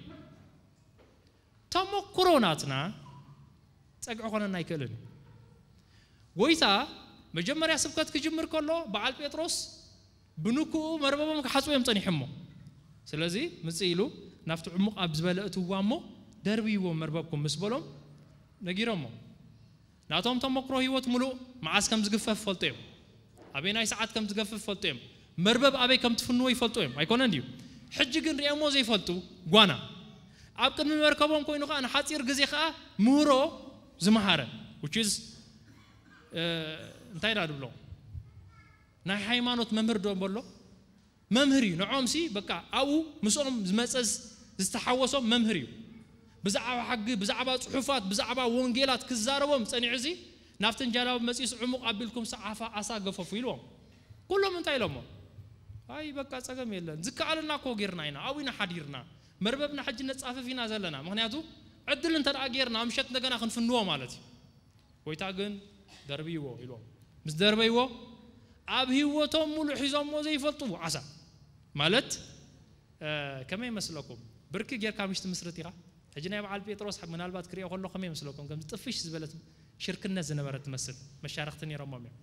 ተመክሮ ናትና ጸግዒ ኮነና ኣይክእልን እዩ። ጎይታ መጀመርያ ስብከት ክጅምር ከሎ በዓል ጴጥሮስ ብንኩኡ መርበቦም ክሓጽቡ እዮም ጸኒሖሞ። ስለዚ ምጽእ ኢሉ ናብቲ ዕሙቕ ኣብ ዝበለ እትዋ እሞ ደርብይዎ መርበብኩም ምስ በሎም ነጊሮሞ። ናቶም ተመክሮ ህይወት ምሉእ መዓስ ከም ዝግፈፍ ፈልጡ እዮም። ኣበይ ናይ ሰዓት ከም ዝገፍፍ ፈልጡ እዮም። መርበብ ኣበይ ከም ትፍንዎ ይፈልጡ እዮም። ኣይኮነን ድዩ? ሕጂ ግን ሪኦሞ ዘይፈልጡ ጓና ኣብ ቅድሚ መርከቦም ኮይኑ ከኣ ንሓጺር ግዜ ከኣ ምህሮ ዝመሃረ፣ which is እንታይ ኢና ንብሎ? ናይ ሃይማኖት መምህር ዶ በሎ? መምህር እዩ። ንዖም ሲ በቃ ኣብኡ ምስኦም ዝመጸ ዝተሓወሶም መምህር እዩ። ብዛዕባ ሕጊ፣ ብዛዕባ ጽሑፋት፣ ብዛዕባ ወንጌላት ክዛረቦም ጸኒዑ ሲ ናብተን ጃላቡ መጺኡስ ዕሙቕ ኣቢልኩም ሰዓፋ ኣሳ ገፈፉ ኢልዎም። ኩሎም እንታይ ኢሎሞ? ኣይ በቃ ጸገም የለን። ዝከኣለና እኮ ጌርና ኢና። ኣብኡ ኢና ሓዲርና። መርበብና ሕጂ ነጻፍፍ ኢና ዘለና። ምኽንያቱ ዕድል እንተ ደኣ ጌርና ምሸት እንደገና ክንፍንዎ ማለት እዩ። ጎይታ ግን ደርብይዎ ኢልዎም። ምስ ደርበይዎ ኣብ ህይወቶም ሙሉእ ሒዞሞ ዘይፈልጡ ዓሳ ማለት እ፣ ከመይ ይመስለኩም? ብርኪ ጌርካ ምሽ ትምስርት ኢኻ? ሕጂ ናይ በዓል ጴጥሮስ ምናልባት ክሪኦ ከሎ ከመይ ይመስለኩም? ከም ጥፍሽ ዝበለት ሽርክነት ዝነበረት ትመስል። መሻርኽቲ ነይሮሞም እዮም።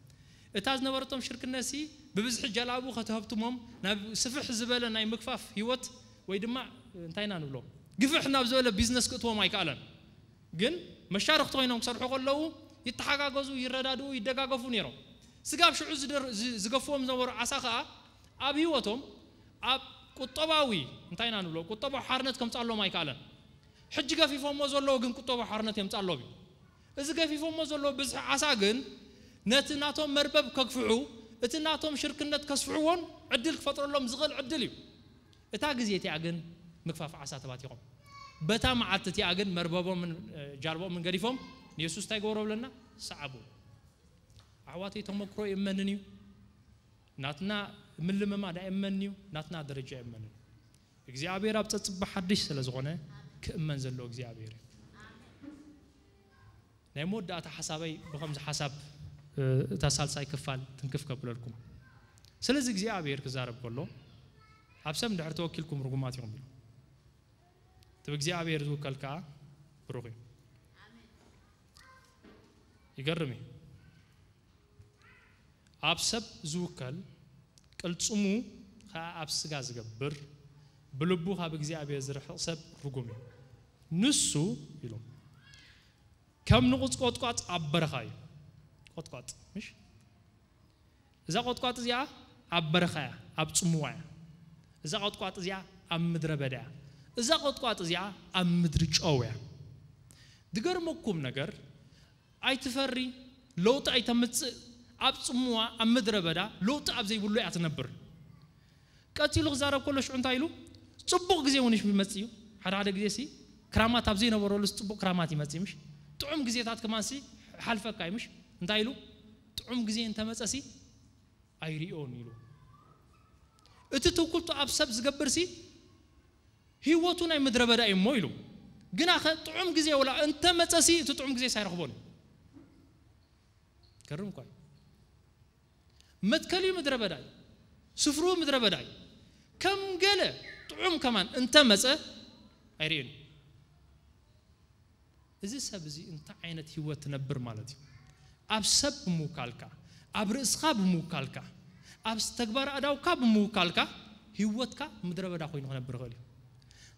እታ ዝነበረቶም ሽርክነት ሲ ብብዝሒ ጀላቡ ከተህብትሞም ናብ ስፍሕ ዝበለ ናይ ምግፋፍ ህይወት ወይ ድማ እንታይ ኢና ንብሎ? ግፍሕ ናብ ዝበለ ቢዝነስ ክእትዎም ኣይከኣለን። ግን መሻርኽቲ ኮይኖም ክሰርሑ ከለዉ ይተሓጋገዙ፣ ይረዳድኡ፣ ይደጋገፉ ነይሮም። ስጋብ ሽዑ ዝደር-፣ ዝ-፣ ዝገፍዎም ዝነበሩ ዓሳ ከኣ ኣብ ህይወቶም ኣብ ቁጠባዊ እንታይ ኢና ንብሎ? ቁጠባዊ ሓርነት ከምጻሎም ኣይከኣለን። ሕጂ ገፊፎሞ ዘለዉ ግን ቁጠባዊ ሓርነት የምጻሎም እዩ። እዚ ገፊፎሞ ዘለዉ ብዝሒ ዓሳ ግን ነቲ ናቶም መርበብ ከግፍሑ፣ እቲ ናቶም ሽርክነት ከስፍሕዎን ዕድል ክፈጥረሎም ዝኽእል ዕድል እዩ። እታ ግዜ እቲኣ ግን ምግፋፍ ዓሳ ተባቲኾም። በታ መዓልቲ እቲኣ ግን መርበቦምን እ፣ ጃልቦምን ገዲፎም ንየሱስ እንታይ ገበሮ ብለና? ሰዓቡ። ኣሕዋተይ ተመክሮ የመንን እዩ። ናትና ምልምማድ ኣይእመንን እዩ። ናትና ደረጃ የመንን እዩ። እግዚኣብሔር ኣብ ጸጽባ ሓድሽ ስለ ዝኾነ ክእመን ዘለዎ እግዚኣብሔር እዩ። ናይ መወዳእታ ሓሳበይ ብኸምዚ ሓሳብ እ፣ እታ ሳልሳይ ክፋል ትንክፍ ከብለልኩም። ስለዚ እግዚኣብሔር ክዛረብ ከሎ ኣብ ሰብ እንድሕር ተወኪልኩም ርጉማት ኢኹም ኢሉ። እቲ ብእግዚኣብሔር ዝውከል ከኣ ብሩኽ እዩ። ይገርም እዩ። ኣብ ሰብ ዝውከል ቅልጽሙ ከኣ ኣብ ስጋ ዝገብር ብልቡ ካብ እግዚኣብሔር ዝርሕቕ ሰብ ርጉም እዩ። ንሱ ኢሉ ከም ንቑጽ ቆጥቋጥ ኣብ በረኻ እዩ። ቆጥቋጥ ምሽ እዛ ቆጥቋጥ እዚኣ ኣብ በረኻ እያ፣ ኣብ ጽምዋ እያ። እዛ ቆጥቋጥ እዚኣ ኣብ ምድረ በዳ እያ። እዛ ቆጥቋጥ እዚኣ ኣብ ምድሪ ጨው እያ። ዝገርመኩም ነገር ኣይትፈሪ፣ ለውጢ ኣይተምጽእ፣ ኣብ ጽምዋ ኣብ ምድረ በዳ ለውጢ ኣብ ዘይብሉ እያ ትነብር። ቀጺሉ ክዛረብ ከሎ ሽዑ እንታይ ኢሉ? ጽቡቕ ግዜ እውን ይመጽእ እዩ። ሓደ ሓደ ግዜ ሲ ክራማት ኣብ ዘይነበረሉስ ጽቡቕ ክራማት ይመጽእ ምሽ? ጥዑም ግዜታት ከማን ሲ ሓልፈካ እዩ ምሽ? እንታይ ኢሉ? ጥዑም ግዜ እንተመጸ ሲ ኣይሪኦን ኢሉ። እቲ ትውክልቱ ኣብ ሰብ ዝገብር ሲ ህይወቱ ናይ ምድረ በዳ እዩ እሞ ኢሉ። ግና ኸ ጥዑም ግዜ ወላ እንተመጸ ሲ እቲ ጥዑም ግዜ ሳይረኽቦን እዩ። ገርም እኳ እዩ። መትከልዩ ምድረ በዳ እዩ። ስፍርኡ ምድረ በዳ እዩ። ከም ገለ ጥዑም ከማን እንተመጸ ኣይርእን። እዚ ሰብ እዚ እንታይ ዓይነት ህይወት ትነብር ማለት እዩ? ኣብ ሰብ ብምውካልካ፣ ኣብ ርእስኻ ብምውካልካ፣ ኣብ ተግባር ኣዳውካ ብምውካልካ ህይወትካ ምድረ በዳ ኮይኑ ክነብር ይኽእል እዩ።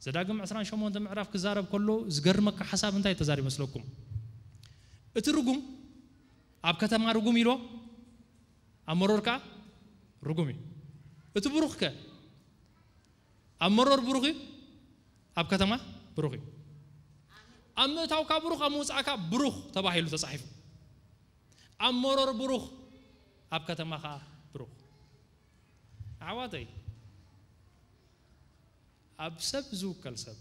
ዘዳግም ዕስራን ሸሞንተ ምዕራፍ ክዛረብ ከሎ ዝገርመካ ሓሳብ እንታይ ተዛሪ መስለኩም? እቲ ርጉም ኣብ ከተማ ርጉም ኢሎ፣ ኣብ መሮር ከዓ ርጉም እዩ። እቲ ብሩኽ ከ ኣብ መሮር ብሩኽ እዩ፣ ኣብ ከተማ ብሩኽ እዩ። ኣብ ምእታውካ ብሩኽ፣ ኣብ ምውፃእካ ብሩኽ ተባሂሉ ተፃሒፉ። ኣብ መሮር ብሩኽ፣ ኣብ ከተማ ከዓ ብሩኽ። ኣሕዋተይ፣ ኣብ ሰብ ዝውከል ሰብ፣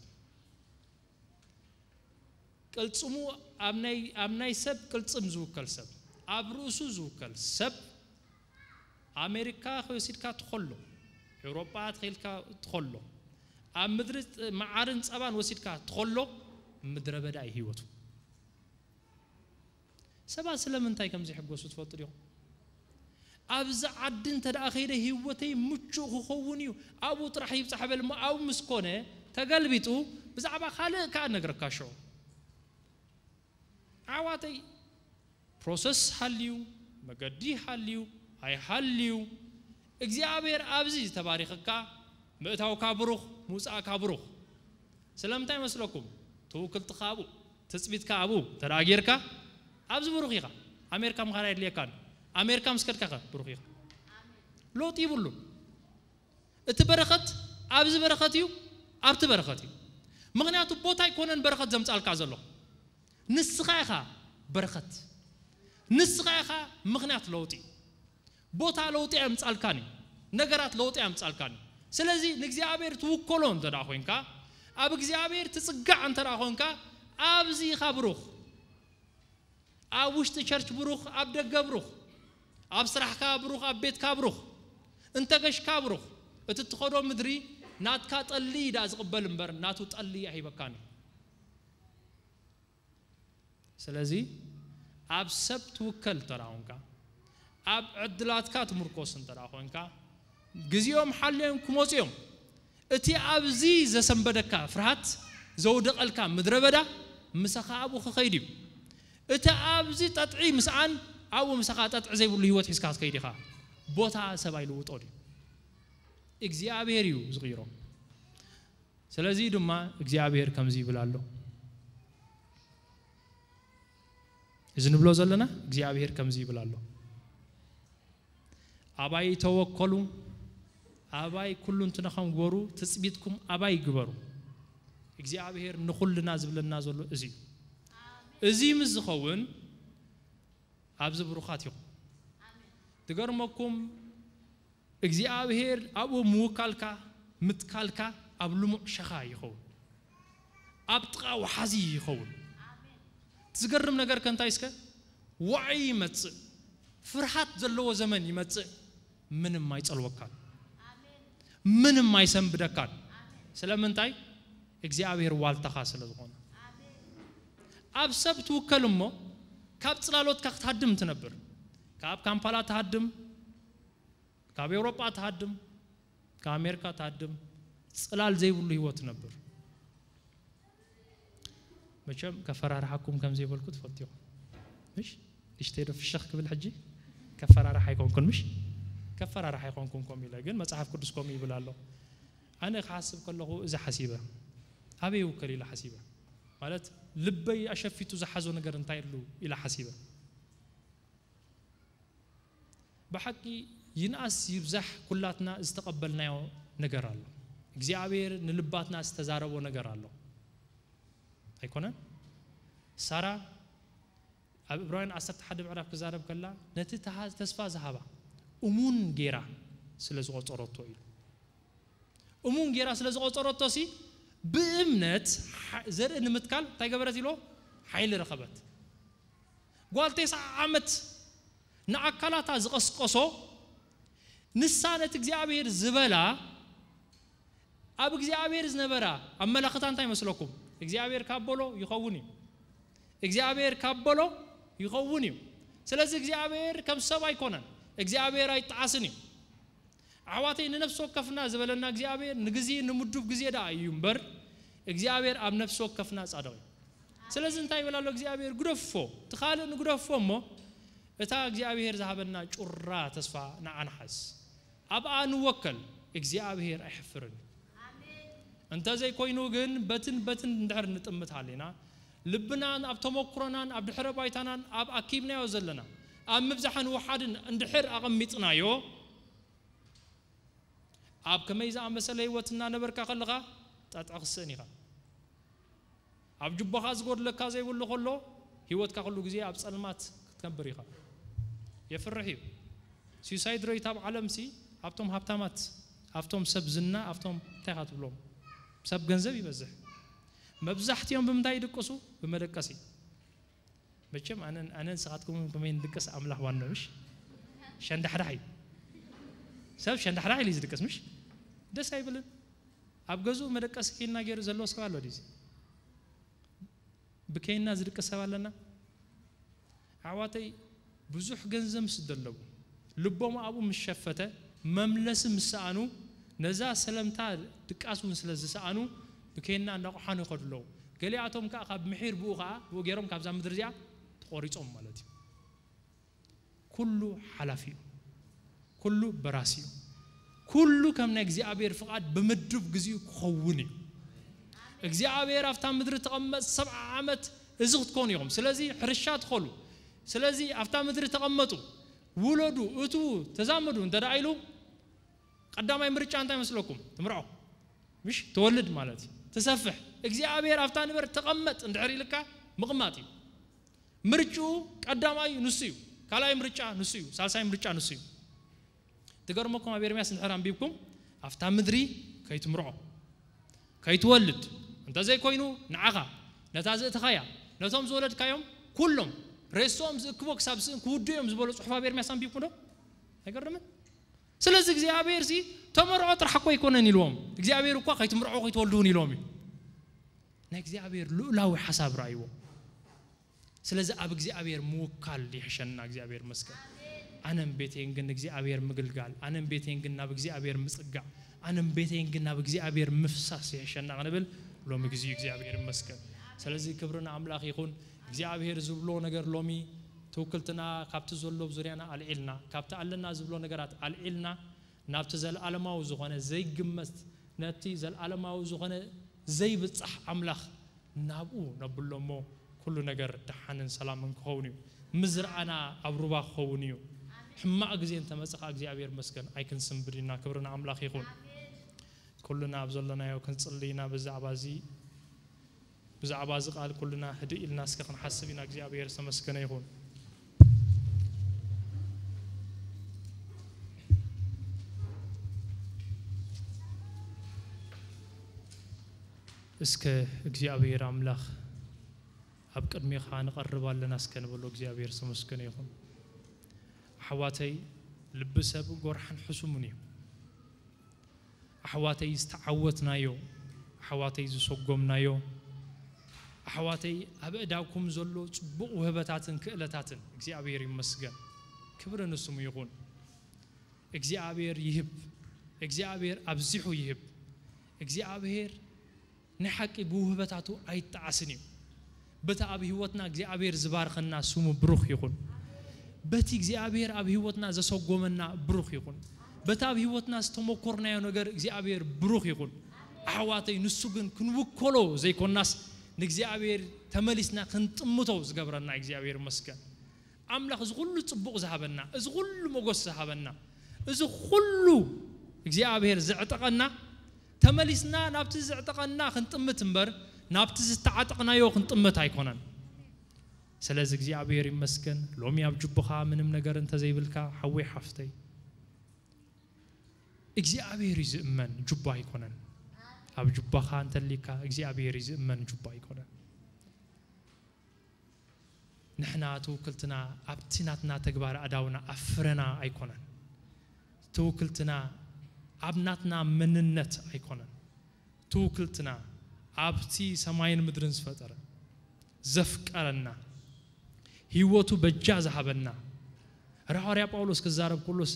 ቅልጽሙ ኣብ ናይ፣ ኣብ ናይ ሰብ ቅልጽም ዝውከል ሰብ፣ ኣብ ርእሱ ዝውከል ሰብ፣ ኣሜሪካ ከይወሲድካ ትኸሎ፣ ኤውሮጳ ተኸይልካ ትኸሎ፣ ኣብ ምድሪ መዓርን ጸባን ወሲድካ ትኸሎ፣ ምድረ በዳ እዩ ህይወቱ። ሰባት ስለምንታይ ከም ዘይሕጎሱ ትፈልጡ ዲኹም? ኣብዚ ዓዲ እንተ ደኣ ከይደ ህይወተይ ምቹእ ክኸውን እዩ፣ ኣብኡ ጥራሕ ይብጻሕ በል እሞ፣ ኣብኡ ምስ ኮነ ተገልቢጡ ብዛዕባ ካልእ ከኣ እነግረካ ሽዑ። ኣሕዋተይ፣ ፕሮሰስ ሃልዩ፣ መገዲ ሃልዩ ኣይሃልዩ፣ እግዚኣብሔር ኣብዚ ተባሪኽካ፣ ምእታውካ ብሩኽ፣ ምውጻእካ ብሩኽ። ስለምንታይ መስለኩም? ትውክልትኻ ኣብኡ፣ ትጽቢትካ ኣብኡ እንተ ደኣ ጌርካ፣ ኣብዚ ብሩኽ ኢኻ። ኣሜሪካ ምኻድ ኣይድልየካን። ኣሜሪካ ምስ ከድካ ኸ ብሩኽ ኢኻ። ለውጢ ይብሉን። እቲ በረኸት ኣብዚ በረኸት እዩ፣ ኣብቲ በረኸት እዩ። ምኽንያቱ ቦታ ኣይኮነን በረኸት ዘምጻልካ ዘሎ። ንስኻ ኢኻ በረኸት። ንስኻ ኢኻ ምኽንያት ለውጢ። ቦታ ለውጢ ኣየምጻልካን እዩ። ነገራት ለውጢ ኣየምጻልካን እዩ። ስለዚ ንእግዚኣብሔር ትውከሎ እንተ ደኣ ኮይንካ፣ ኣብ እግዚኣብሔር ትጽጋዕ እንተ ደኣ ኮይንካ፣ ኣብዚ ኢኻ ብሩኽ። ኣብ ውሽጢ ቸርች ብሩኽ፣ ኣብ ደገ ብሩኽ፣ ኣብ ስራሕካ ብሩኽ፣ ኣብ ቤትካ ብሩኽ፣ እንተ ገሽካ ብሩኽ። እቲ ትኸዶ ምድሪ ናትካ ጠሊ እዩ ደኣ ዝቕበል እምበር፣ ናቱ ጠሊ ኣይሂበካን እዩ። ስለዚ ኣብ ሰብ ትውከል እንተ ደኣ ኮንካ፣ ኣብ ዕድላትካ ትምርኮስ እንተ ደኣ ኮንካ፣ ግዜኦም ሓልዮም ክመጹ እዮም። እቲ ኣብዚ ዘሰንበደካ ፍርሃት ዘውደቐልካ ምድረ በዳ ምሳኻ ኣብኡ ክኸይድ እዩ። እቲ ኣብዚ ጠጥዒ ምስኣን ኣብኡ ምሳኻ ጠጥዒ ዘይብሉ ህይወት ሒዝካ ክትከይድ ኢኻ። ቦታ ሰብ ኣይልውጦን እዩ። እግዚኣብሔር እዩ ዝቕይሮ። ስለዚ ድማ እግዚኣብሔር ከምዚ ይብል ኣሎ። እዚ ንብሎ ዘለና እግዚኣብሔር ከምዚ ይብል ኣሎ። ኣባይ ተወከሉ፣ ኣባይ ኩሉ እንትነኸም ግበሩ፣ ትጽቢትኩም ኣባይ ግበሩ። እግዚኣብሔር ንኹልና ዝብለና ዘሎ እዚ እዩ። እዚ ምስ ዝኸውን ኣብዚ ብሩኻት ኢኹም። ትገርመኩም እግዚኣብሔር ኣብኡ ምውካልካ፣ ምትካልካ ኣብ ልሙዕ ሸኻ ይኸውን። ኣብ ጥቓ ወሓዚ ይኸውን። እቲ ዝገርም ነገር ከ እንታይ እስከ? ዋዒ ይመጽእ። ፍርሃት ዘለዎ ዘመን ይመጽእ። ምንም ኣይጸልወካን። ምንም ኣይሰንብደካን። ስለምንታይ? እግዚኣብሔር ዋልታኻ ስለ ዝኾነ። ኣብ ሰብ ትውከል እሞ ካብ ጽላሎትካ ክትሃድም ትነብር። ካብ ካምፓላ ትሃድም፣ ካብ ኤውሮጳ ትሃድም፣ ካብ ኣሜሪካ ትሃድም፣ ጽላል ዘይብሉ ህይወት ትነብር። መቸም ከፈራርሓኩም ከም ዘይበልኩ ትፈልጡ ኢኹም። ምሽ? ንሽተይ ዶ ፍሽኽ ክብል ሕጂ? ከፈራርሕ ኣይኮንኩን ምሽ? ከፈራርሕ ኣይኮንኩን ከምኡ ኢለ፣ ግን መጽሓፍ ቅዱስ ከምኡ ይብል ኣሎ። ኣነ ክሓስብ ከለኹ እዚ ሓሲበ፣ ኣበይ ይውከል ኢለ ሓሲበ። ማለት ልበይ ኣሸፊቱ ዝሓዞ ነገር እንታይ ኣሉ ኢለ ሓሲበ። ብሓቂ ይንኣስ ይብዛሕ ኩላትና ዝተቐበልናዮ ነገር ኣሎ። እግዚኣብሔር ንልባትና ዝተዛረቦ ነገር ኣሎ። ኣይኮነን? ሳራ ኣብ ዕብራውያን ዓሰርተ ሓደ ምዕራፍ ክዛረብ ከላ ነቲ ተሃ-፣ ተስፋ ዝሃባ እሙን ጌራ ስለ ዝቖጸረቶ እዩ። እሙን ጌራ ስለ ዝቖጸረቶ ሲ ብእምነት ሓ-፣ ዘርኢ ንምትካል እንታይ ገበረት ኢሎ? ሓይሊ ረኸበት። ጓል ተስዓ ዓመት ንኣካላታ ዝቐስቀሶ ንሳ ነቲ እግዚኣብሔር ዝበላ ኣብ እግዚኣብሔር ዝነበራ ኣመላኽታ እንታይ መስለኩም? እግዚኣብሔር ካብ በሎ ይኸውን እዩ። እግዚኣብሔር ካብ በሎ ይኸውን እዩ። ስለዚ እግዚኣብሔር ከም ሰብ ኣይኮነን። እግዚኣብሔር ኣይጠዓስን እዩ። ኣሕዋተይ፣ ንነፍሲ ወከፍና ዝበለና እግዚኣብሔር ንግዜ፣ ንምዱብ ግዜ ደኣ እዩ እምበር፣ እግዚኣብሔር ኣብ ነፍሲ ወከፍና ጻድቕ እዩ። ስለዚ እንታይ ይብል ኣሎ እግዚኣብሔር? ግደፎ፣ እቲ ካልእ ንግደፎ እሞ፣ እታ እግዚኣብሔር ዝሃበና ጩራ ተስፋ ንዓ ንሓዝ። ኣብኣ ንወከል፣ እግዚኣብሔር ኣይሕፍርን እዩ። እንተዘይኮይኑ ግን በትን በትን እንድሕር ንጥምት ሃሊና፣ ልብናን ኣብ ተመክሮናን ኣብ ድሕረ ባይታናን ኣብ ኣኪብናዮ ዘለና ኣብ ምብዛሕን ውሓድን እንድሕር ኣቐሚጥናዮ፣ ኣብ ከመይ ዝኣመሰለ ህይወት እናነበርካ ከለኻ ጠጥዒ ክስእን ኢኻ። ኣብ ጁባኻ ዝጎድለካ ዘይብሉ ከሎ፣ ህይወትካ ኩሉ ግዜ ኣብ ጸልማት ክትነብር ኢኻ። የፍርሕ እዩ። ሱሳይድ ሬት ኣብ ዓለምሲ ኣብቶም ሃብታማት፣ ኣብቶም ሰብ ዝና፣ ኣብቶም እንታይ ኢኻ ትብሎም? ሰብ ገንዘብ ይበዝሕ። መብዛሕትኦም ብምንታይ ይድቅሱ? ብመደቀሲ። መቸም ኣነን ኣነን ንስኻትኩም ከመይ ንድቅስ ኣምላኽ ዋና ምሽ? ሸንዳሕዳሕ እዩ። ሰብ ሸንዳሕዳሕ ኢሉ እዩ ዝድቅስ ምሽ? ደስ ኣይብልን። ኣብ ገዝኡ መደቀሲ ኬና ገይሩ ዘሎ ሰብ ኣሎ ድዩ? ብኬና ዝድቅስ ሰብ ኣለና? ኣሕዋተይ፣ ብዙሕ ገንዘብ ምስ ደለቡ፣ ልቦም ኣብኡ ምስ ሸፈተ፣ መምለሲ ምስ ሰኣኑ፣ ነዛ ሰለምታ ድቃስ እውን ስለ ዝሰኣኑ፣ ብኬና እናቆሓኑ ይኸዱ ኣለዉ። ገሊኣቶም ከኣ ካብ ምሒር ብኡ ከኣ፣ ብኡ ገይሮም ካብዛ ምድሪ እዚኣ ተቖሪጾም ማለት እዩ። ኩሉ ሓላፊ እዩ። ኩሉ በራሲ እዩ። ኩሉ ከም ናይ እግዚኣብሔር ፍቓድ ብምዱብ ግዜኡ ክኸውን እዩ። እግዚኣብሔር ኣብታ ምድሪ ተቐመጥ ሰብዓ ዓመት እዚ ክትኮኑ ኢኹም። ስለዚ ሕርሻ ትኸሉ። ስለዚ ኣብታ ምድሪ ተቐመጡ፣ ውለዱ፣ እትዉ፣ ተዛመዱ እንተ ደኣ ኢሉ፣ ቀዳማይ ምርጫ እንታይ መስለኩም? ትምርዖ። ምሽ ትወልድ ማለት እዩ። ትሰፍሕ። እግዚኣብሔር ኣብታ ንበር ተቐመጥ እንድሕር ኢልካ ምቕማጥ እዩ። ምርጭኡ ቀዳማይ ንሱ እዩ። ካልኣይ ምርጫ ንሱ እዩ። ሳልሳይ ምርጫ ንሱ እዩ። ትገርመኩም፣ ኣብ ኤርምያስ እንድሕር ኣንቢብኩም፣ ኣብታ ምድሪ ከይትምርዖ፣ ከይትወልድ፣ እንተዘይኮይኑ ንዓኻ፣ ነታ ዘእተኻያ፣ ነቶም ዝወለድካዮም ኩሎም ሬስኦም ዝእክቦ ክሳብ ስእን ክውድኡ እዮም ዝበሎ ጽሑፍ ኣብ ኤርምያስ ኣንቢብኩም ዶ? ኣይገርምን? ስለዚ እግዚኣብሔር ሲ ተመርዖ ጥራሕ እኮ ኣይኮነን ኢልዎም። እግዚኣብሔር እኳ ከይትምርዖ ከይትወልዱ እውን ኢልዎም እዩ። ናይ እግዚኣብሔር ልኡላዊ ሓሳብ ረኣይዎ። ስለዚ ኣብ እግዚኣብሔር ምውካል ይሕሸና። እግዚኣብሔር መስገን። ኣነም ቤቴን ግን እግዚኣብሔር ምግልጋል፣ ኣነም ቤቴን ግን ናብ እግዚኣብሔር ምጽጋዕ፣ ኣነም ቤቴን ግን ናብ እግዚኣብሔር ምፍሳስ ይሕሸና ክንብል ሎሚ ግዜ እግዚኣብሔር ይመስገን። ስለዚ ክብሪ ንኣምላኽ ይኹን። እግዚኣብሔር ዝብሎ ነገር ሎሚ ትውክልትና ካብቲ ዘሎ ዙርያና ኣልዒልና፣ ካብቲ ኣለና ዝብሎ ነገራት ኣልዒልና፣ ናብቲ ዘለዓለማዊ ዝኾነ ዘይግመት፣ ነቲ ዘለዓለማዊ ዝኾነ ዘይብጻሕ ኣምላኽ ናብኡ ነብሎ እሞ፣ ኩሉ ነገር ደሓንን ሰላምን ክኸውን እዩ። ምዝርኣና ኣብ ሩባ ክኸውን እዩ። ሕማቕ ግዜ እንተመጸ ኸኣ እግዚኣብሔር መስገን ኣይክንስንብድ ኢና። ክብሪ ንኣምላኽ ይኹን። ኩልና ኣብ ዘለናዮ ክንጽሊ ኢና። ብዛዕባ እዚ ብዛዕባ እዚ ቃል ኩልና ህድእ ኢልና እስከ ክንሓስብ ኢና። እግዚኣብሔር ዝተመስገነ ይኹን። እስከ እግዚኣብሔር ኣምላኽ ኣብ ቅድሜኻ ንቐርብ ኣለና እስከ ንበሎ። እግዚኣብሔር ዝተመስገነ ይኹን። ኣሕዋተይ፣ ልቢ ሰብ ጎርሓን ሕሱምን እዩ። ኣሕዋተይ ዝተዓወትናዮ፣ ኣሕዋተይ ዝሰጎምናዮ፣ ኣሕዋተይ ኣብ እዳኩም ዘሎ ጽቡቕ ውህበታትን ክእለታትን እግዚኣብሔር ይመስገን። ክብሪ ንስሙ ይኹን። እግዚኣብሔር ይህብ። እግዚኣብሔር ኣብዚሑ ይህብ። እግዚኣብሔር ናይ ሓቂ ብውህበታቱ ኣይጠዓስን እዩ። በቲ ኣብ ህይወትና እግዚኣብሔር ዝባርኸና ስሙ ብሩኽ ይኹን። በቲ እግዚኣብሔር ኣብ ህይወትና ዘሰጎመና ብሩኽ ይኹን። በቲ ኣብ ህይወትና ዝተመኮርናዮ ነገር እግዚኣብሔር ብሩኽ ይኹን። ኣሕዋተይ፣ ንሱ ግን ክንውከሎ ዘይኮናስ ንእግዚኣብሔር ተመሊስና ክንጥምቶ ዝገብረና እግዚኣብሔር ይመስገን። ኣምላኽ እዚ ኩሉ ጽቡቕ ዝሃበና፣ እዚ ኩሉ ሞገስ ዝሃበና፣ እዚ ኩሉ እግዚኣብሔር ዘዕጠቐና፣ ተመሊስና ናብቲ ዘዕጠቐና ክንጥምት እምበር፣ ናብቲ ዝተዓጠቕናዮ ክንጥምት ኣይኮነን። ስለዚ እግዚኣብሔር ይመስገን። ሎሚ ኣብ ጁባኻ ምንም ነገር እንተዘይብልካ፣ ሓወይ ሓፍተይ፣ እግዚኣብሔር እዩ ዝእመን፣ ጁባ ኣይኮነን። ኣብ ጁባኻ እንተሊካ እግዚኣብሔር እዩ ዝእመን፣ ጁባ ኣይኮነን። ንሕና ትውክልትና ኣብቲ ናትና ተግባር ኣዳውና ኣብ ፍረና ኣይኮነን። ትውክልትና ኣብ ናትና መንነት ኣይኮነን። ትውክልትና ኣብቲ ሰማይን ምድርን ዝፈጠረ፣ ዘፍቀረና፣ ህይወቱ በጃ ዝሃበና፣ ራሐዋርያ ጳውሎስ ክዛረብ ኩሉስ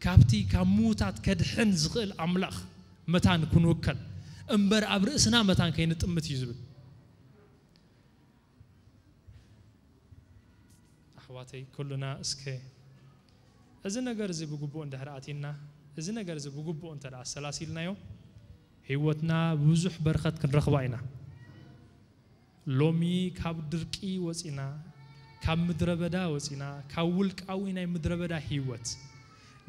ካብቲ ካብ ምዉታት ከድሕን ዝኽእል ኣምላኽ መታን ክንውከል እምበር ኣብ ርእስና መታን ከይንጥምት እዩ ዝብል። ኣሕዋተይ ኩልና እስከ እዚ ነገር እዚ ብግቡእ እንድሕር ኣቲና፣ እዚ ነገር እዚ ብግቡእ እንተ ደኣ ኣሰላሲልናዮ፣ ህይወትና ብዙሕ በረኸት ክንረኽባ ኢና። ሎሚ ካብ ድርቂ ወጺና፣ ካብ ምድረ በዳ ወጺና፣ ካብ ውልቃዊ ናይ ምድረ በዳ ህይወት፣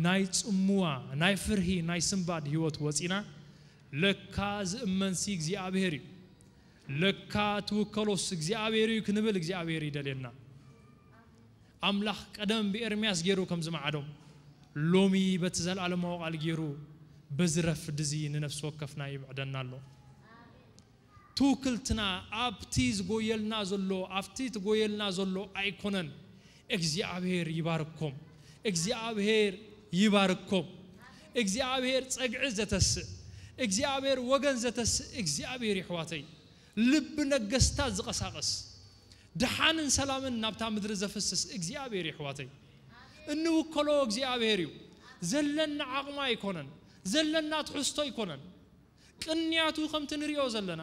ናይ ጽምዋ፣ ናይ ፍርሂ፣ ናይ ስንባድ ህይወት ወጺና፣ ለካ ዝእመንሲ እግዚኣብሔር እዩ። ለካ ትውከሎስ እግዚኣብሔር እዩ ክንብል እግዚኣብሔር ይደልየና። ኣምላኽ ቀደም ብኤርምያስ ገይሩ ከም ዝመዓዶም፣ ሎሚ በቲ ዘለኣለማዊ ቃል ገይሩ በዚ ረፍዲ እዚ ንነፍሲ ወከፍና ይምዕደና ኣሎ። ትውክልትና ኣብቲ ዝጎየልና ዘሎ፣ ኣብቲ ትጎየልና ዘሎ ኣይኮነን። እግዚኣብሔር ይባርኮም። እግዚኣብሔር ይባርኮም። እግዚኣብሔር ጸግዒ ዘተስእ፣ እግዚኣብሔር ወገን ዘተስእ እግዚኣብሔር ይሕዋተይ። ልቢ ነገስታት ዝቐሳቐስ፣ ደሓንን ሰላምን ናብታ ምድሪ ዘፍስስ እግዚኣብሔር ይሕዋተይ። እንውከሎ እግዚኣብሔር እዩ። ዘለና ዓቕሚ ኣይኮነን። ዘለና ትሕዝቶ ኣይኮነን። ቅንያቱ ከምቲ ንሪኦ ዘለና፣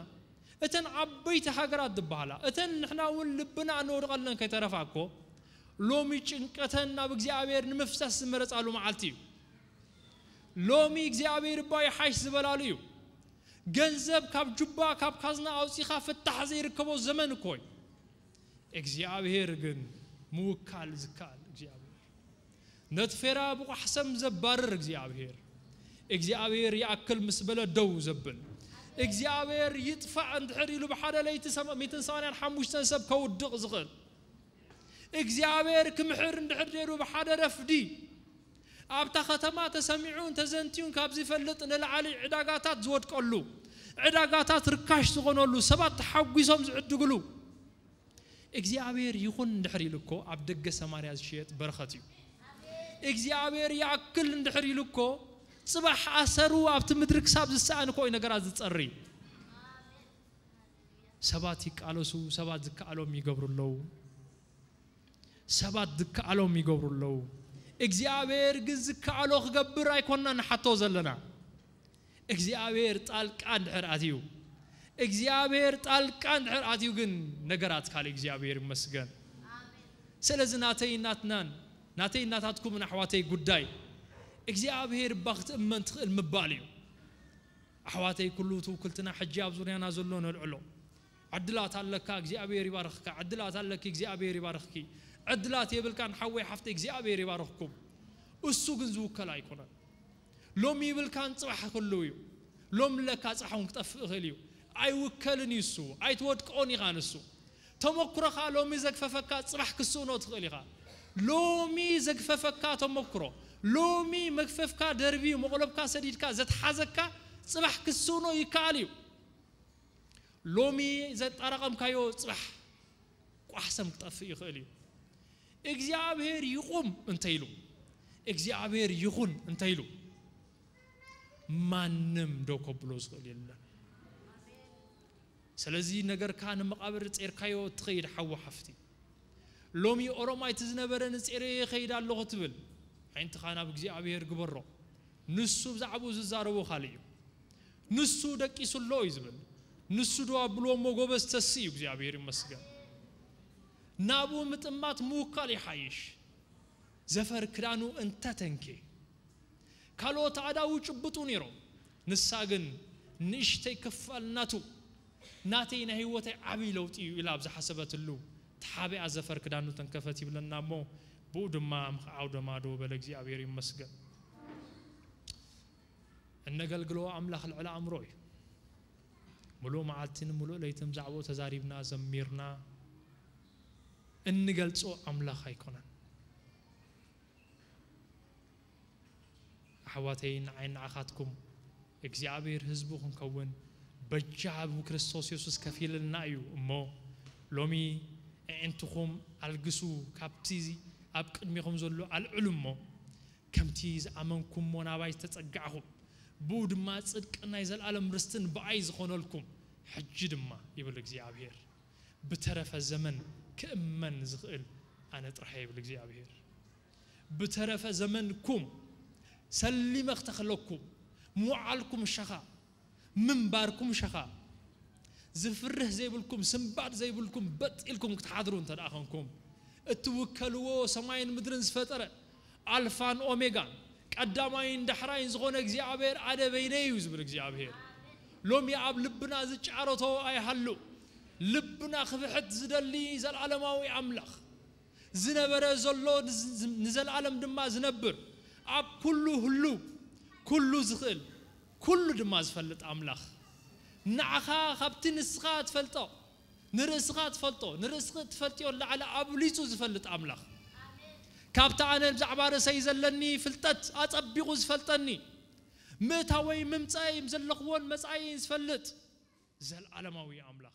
እተን ዓበይቲ ሃገራት ዝበሃላ፣ እተን ንሕና እውን ልብና እንወድቐለን ከይተረፋ እኮ፣ ሎሚ ጭንቀተን ናብ እግዚኣብሔር ንምፍሳስ ዝመረጻሉ መዓልቲ እዩ። ሎሚ እግዚኣብሔር እባ ይሓይሽ ዝበላሉ እዩ። ገንዘብ ካብ ጁባ፣ ካብ ካዝና ኣውጺኻ ፍታሕ ዘይርከቦ ዘመን እኮ እዩ። እግዚኣብሔር ግን ምውካል ዝከኣል እግዚኣብሔር፣ ነቲ ፌራ ብቋሕሰም ዘባርር እግዚኣብሔር፣ እግዚኣብሔር ይኣክል ምስ በለ ደው ዘብል፣ እግዚኣብሔር ይጥፋእ እንድሕር ኢሉ ብሓደ ለይቲ ሰማ-፣ ሚእትን ሰማንያን ሓሙሽተን ሰብ ከውድቕ ዝኽእል፣ እግዚኣብሔር ክምሕር እንድሕር ደይሩ ብሓደ ረፍዲ ኣብታ ከተማ ተሰሚዑን ተዘንትዩን ካብ ዝፈልጥ ንላዕሊ ዕዳጋታት ዝወድቀሉ፣ ዕዳጋታት ርካሽ ዝኾነሉ፣ ሰባት ተሓጒሶም ዝዕድግሉ፣ እግዚኣብሔር ይኹን እንድሕር ኢሉ እኮ ኣብ ደገ ሰማርያ ዝሽየጥ በረኸት እዩ። እግዚኣብሔር ይኣክል እንድሕር ኢሉ እኮ ጽባሕ ኣሰሩ ኣብቲ ምድሪ ክሳብ ዝሰኣን እኮ እዩ ነገራት ዝጸሪ። ሰባት ይቃለሱ፣ ሰባት ዝከኣሎም ይገብሩ ኣለዉ። ሰባት ዝከኣሎም ይገብሩ ኣለዉ። እግዚኣብሔር ግን ዝከኣሎ ክገብር ኣይኮንና ንሓቶ ዘለና። እግዚኣብሔር ጣልቃ እንድሕር ኣትዩ፣ እግዚኣብሔር ጣልቃ እንድሕር ኣትዩ ግን ነገራት ካልእ እግዚኣብሔር ይመስገን። ስለዚ ናተይ ናትናን፣ ናተይ ናታትኩምን ኣሕዋተይ ጉዳይ እግዚኣብሔር እባ ክትእመን ትኽእል ምባል እዩ። ኣሕዋተይ ኩሉ ትውክልትና ሕጂ ኣብ ዙርያና ዘሎ ነልዕሎ። ዕድላት ኣለካ እግዚኣብሔር ይባርኽካ፣ ዕድላት ኣለኪ እግዚኣብሔር ይባርኽኪ። ዕድላት የብልካን ሓወይ ሓፍተይ እግዚኣብሔር ይባርኽኩም። እሱ ግን ዝውከል ኣይኮነን። ሎም ይብልካን ጽባሕ ክህልው እዩ። ሎም ለካ ጽባሕ እውን ክጠፍእ ይኽእል እዩ። ኣይውከልን እዩ እሱ፣ ኣይትወድቅኦን ኢኻ ንሱ። ተመኩሮኻ ሎሚ ዘግፈፈካ ጽባሕ ክስእኖ ትኽእል ኢኻ። ሎሚ ዘግፈፈካ ተመኩሮ፣ ሎሚ መግፈፍካ ደርቢ መቑለብካ ሰዲድካ ዘትሓዘካ ጽባሕ ክስእኖ ይከኣል እዩ። ሎሚ ዘጣራቐምካዮ ጽባሕ ቋሕሰም ክጠፍእ ይኽእል እዩ። እግዚኣብሔር ይቑም እንተኢሉ፣ እግዚኣብሔር ይኹን እንተኢሉ፣ ማንም ደው ከብሎ ዝኽእል የለን። ስለዚ ነገርካ ንመቓብር ጼርካዮ እትኸይድ ሓዊ ሓፍቲ፣ ሎሚ ኦሮማይ እቲ ዝነበረ ንጼረዮ ይኸይድ ኣለኹ ትብል፣ ኣዒንትኻ ናብ እግዚኣብሔር ግበሮ። ንሱ ብዛዕባኡ ዝዛረቦ ካልእ እዩ። ንሱ ደቂሱ ኣሎ እዩ ዝብል። ንሱ ዶ ኣብልዎ እሞ ጎበዝ ተሲ እዩ፣ እግዚኣብሔር ይመስገን። ናብኡ ምጥማት ምውካል ይሓይሽ። ዘፈር ክዳኑ እንተተንኬ፣ ካልኦት ኣእዳዉ ጭብጡ ነይሮም። ንሳ ግን ንእሽተይ ክፋል ናቱ፣ ናተይ ናይ ህይወተይ ዓብዪ ለውጢ እዩ ኢላ ኣብ ዝሓሰበትሉ ተሓቢኣ ዘፈር ክዳኑ ተንከፈት ይብለና እሞ፣ ብኡ ድማ ምኽዓው ደማዶ በለ። እግዚኣብሔር ይመስገን። እነገልግሎ ኣምላኽ ልዕሊ ኣእምሮ እዩ። ምሉእ መዓልትን ምሉእ ለይትን ብዛዕባኡ ተዛሪብና፣ ዘሚርና እንገልጾ ኣምላኽ ኣይኮነን። ኣሕዋተይ፣ ንዓይ ንዓኻትኩም እግዚኣብሔር ህዝቡ ክንከውን በጃ ብክርስቶስ የሱስ ከፊልልና እዩ። እሞ ሎሚ ኣዒንትኹም ኣልግሱ፣ ካብቲ ኣብ ቅድሜኹም ዘሎ ኣልዕሉ እሞ፣ ከምቲ ዝኣመንኩሞ ናባይ ዝተጸጋዕኹም፣ ብኡ ድማ ጽድቅን ናይ ዘለኣለም ርስትን ብኣይ ዝኾነልኩም፣ ሕጂ ድማ ይብል እግዚኣብሔር፣ ብተረፈ ዘመን ክእመን ዝኽእል ኣነ ጥራሕ ይብል እግዚኣብሔር። ብተረፈ ዘመንኩም ሰሊመ ክተኽለኩም፣ ምውዓልኩም ሸኻ፣ ምንባርኩም ሸኻ፣ ዝፍርህ ዘይብልኩም፣ ስንባድ ዘይብልኩም፣ በጥ ኢልኩም ክትሓድሩ እንተ ደኣ ኾንኩም፣ እትውከልዎ ሰማይን ምድርን ዝፈጠረ፣ ኣልፋን ኦሜጋን፣ ቀዳማይን ዳሕራይን ዝኾነ እግዚኣብሔር ኣነ በይነይ እዩ ዝብል እግዚኣብሔር። ሎሚ ኣብ ልብና ዝጫረቶ ኣይሃሉ። ልብና ክብሕት ዝደሊ ዘላለማዊ ኣምላኽ፣ ዝነበረ ዘሎ ንዝ-፣ ንዘለኣለም ድማ ዝነብር፣ ኣብ ኩሉ ህሉ፣ ኩሉ ዝኽእል፣ ኩሉ ድማ ዝፈልጥ ኣምላኽ፣ ንዓኻ ካብቲ ንስኻ ትፈልጦ፣ ንርእስኻ ትፈልጦ፣ ንርእስኺ ትፈልጥዮ ላዕሊ ኣብሊጹ ዝፈልጥ ኣምላኽ፣ ካብቲ ኣነ ብዛዕባ ርእሰይ ዘለኒ ፍልጠት ኣጸቢቑ ዝፈልጠኒ፣ ምእታወይ ምምጻእይ ዘለኽዎን መጻኢን ዝፈልጥ ዘልዓለማዊ ኣምላኽ፣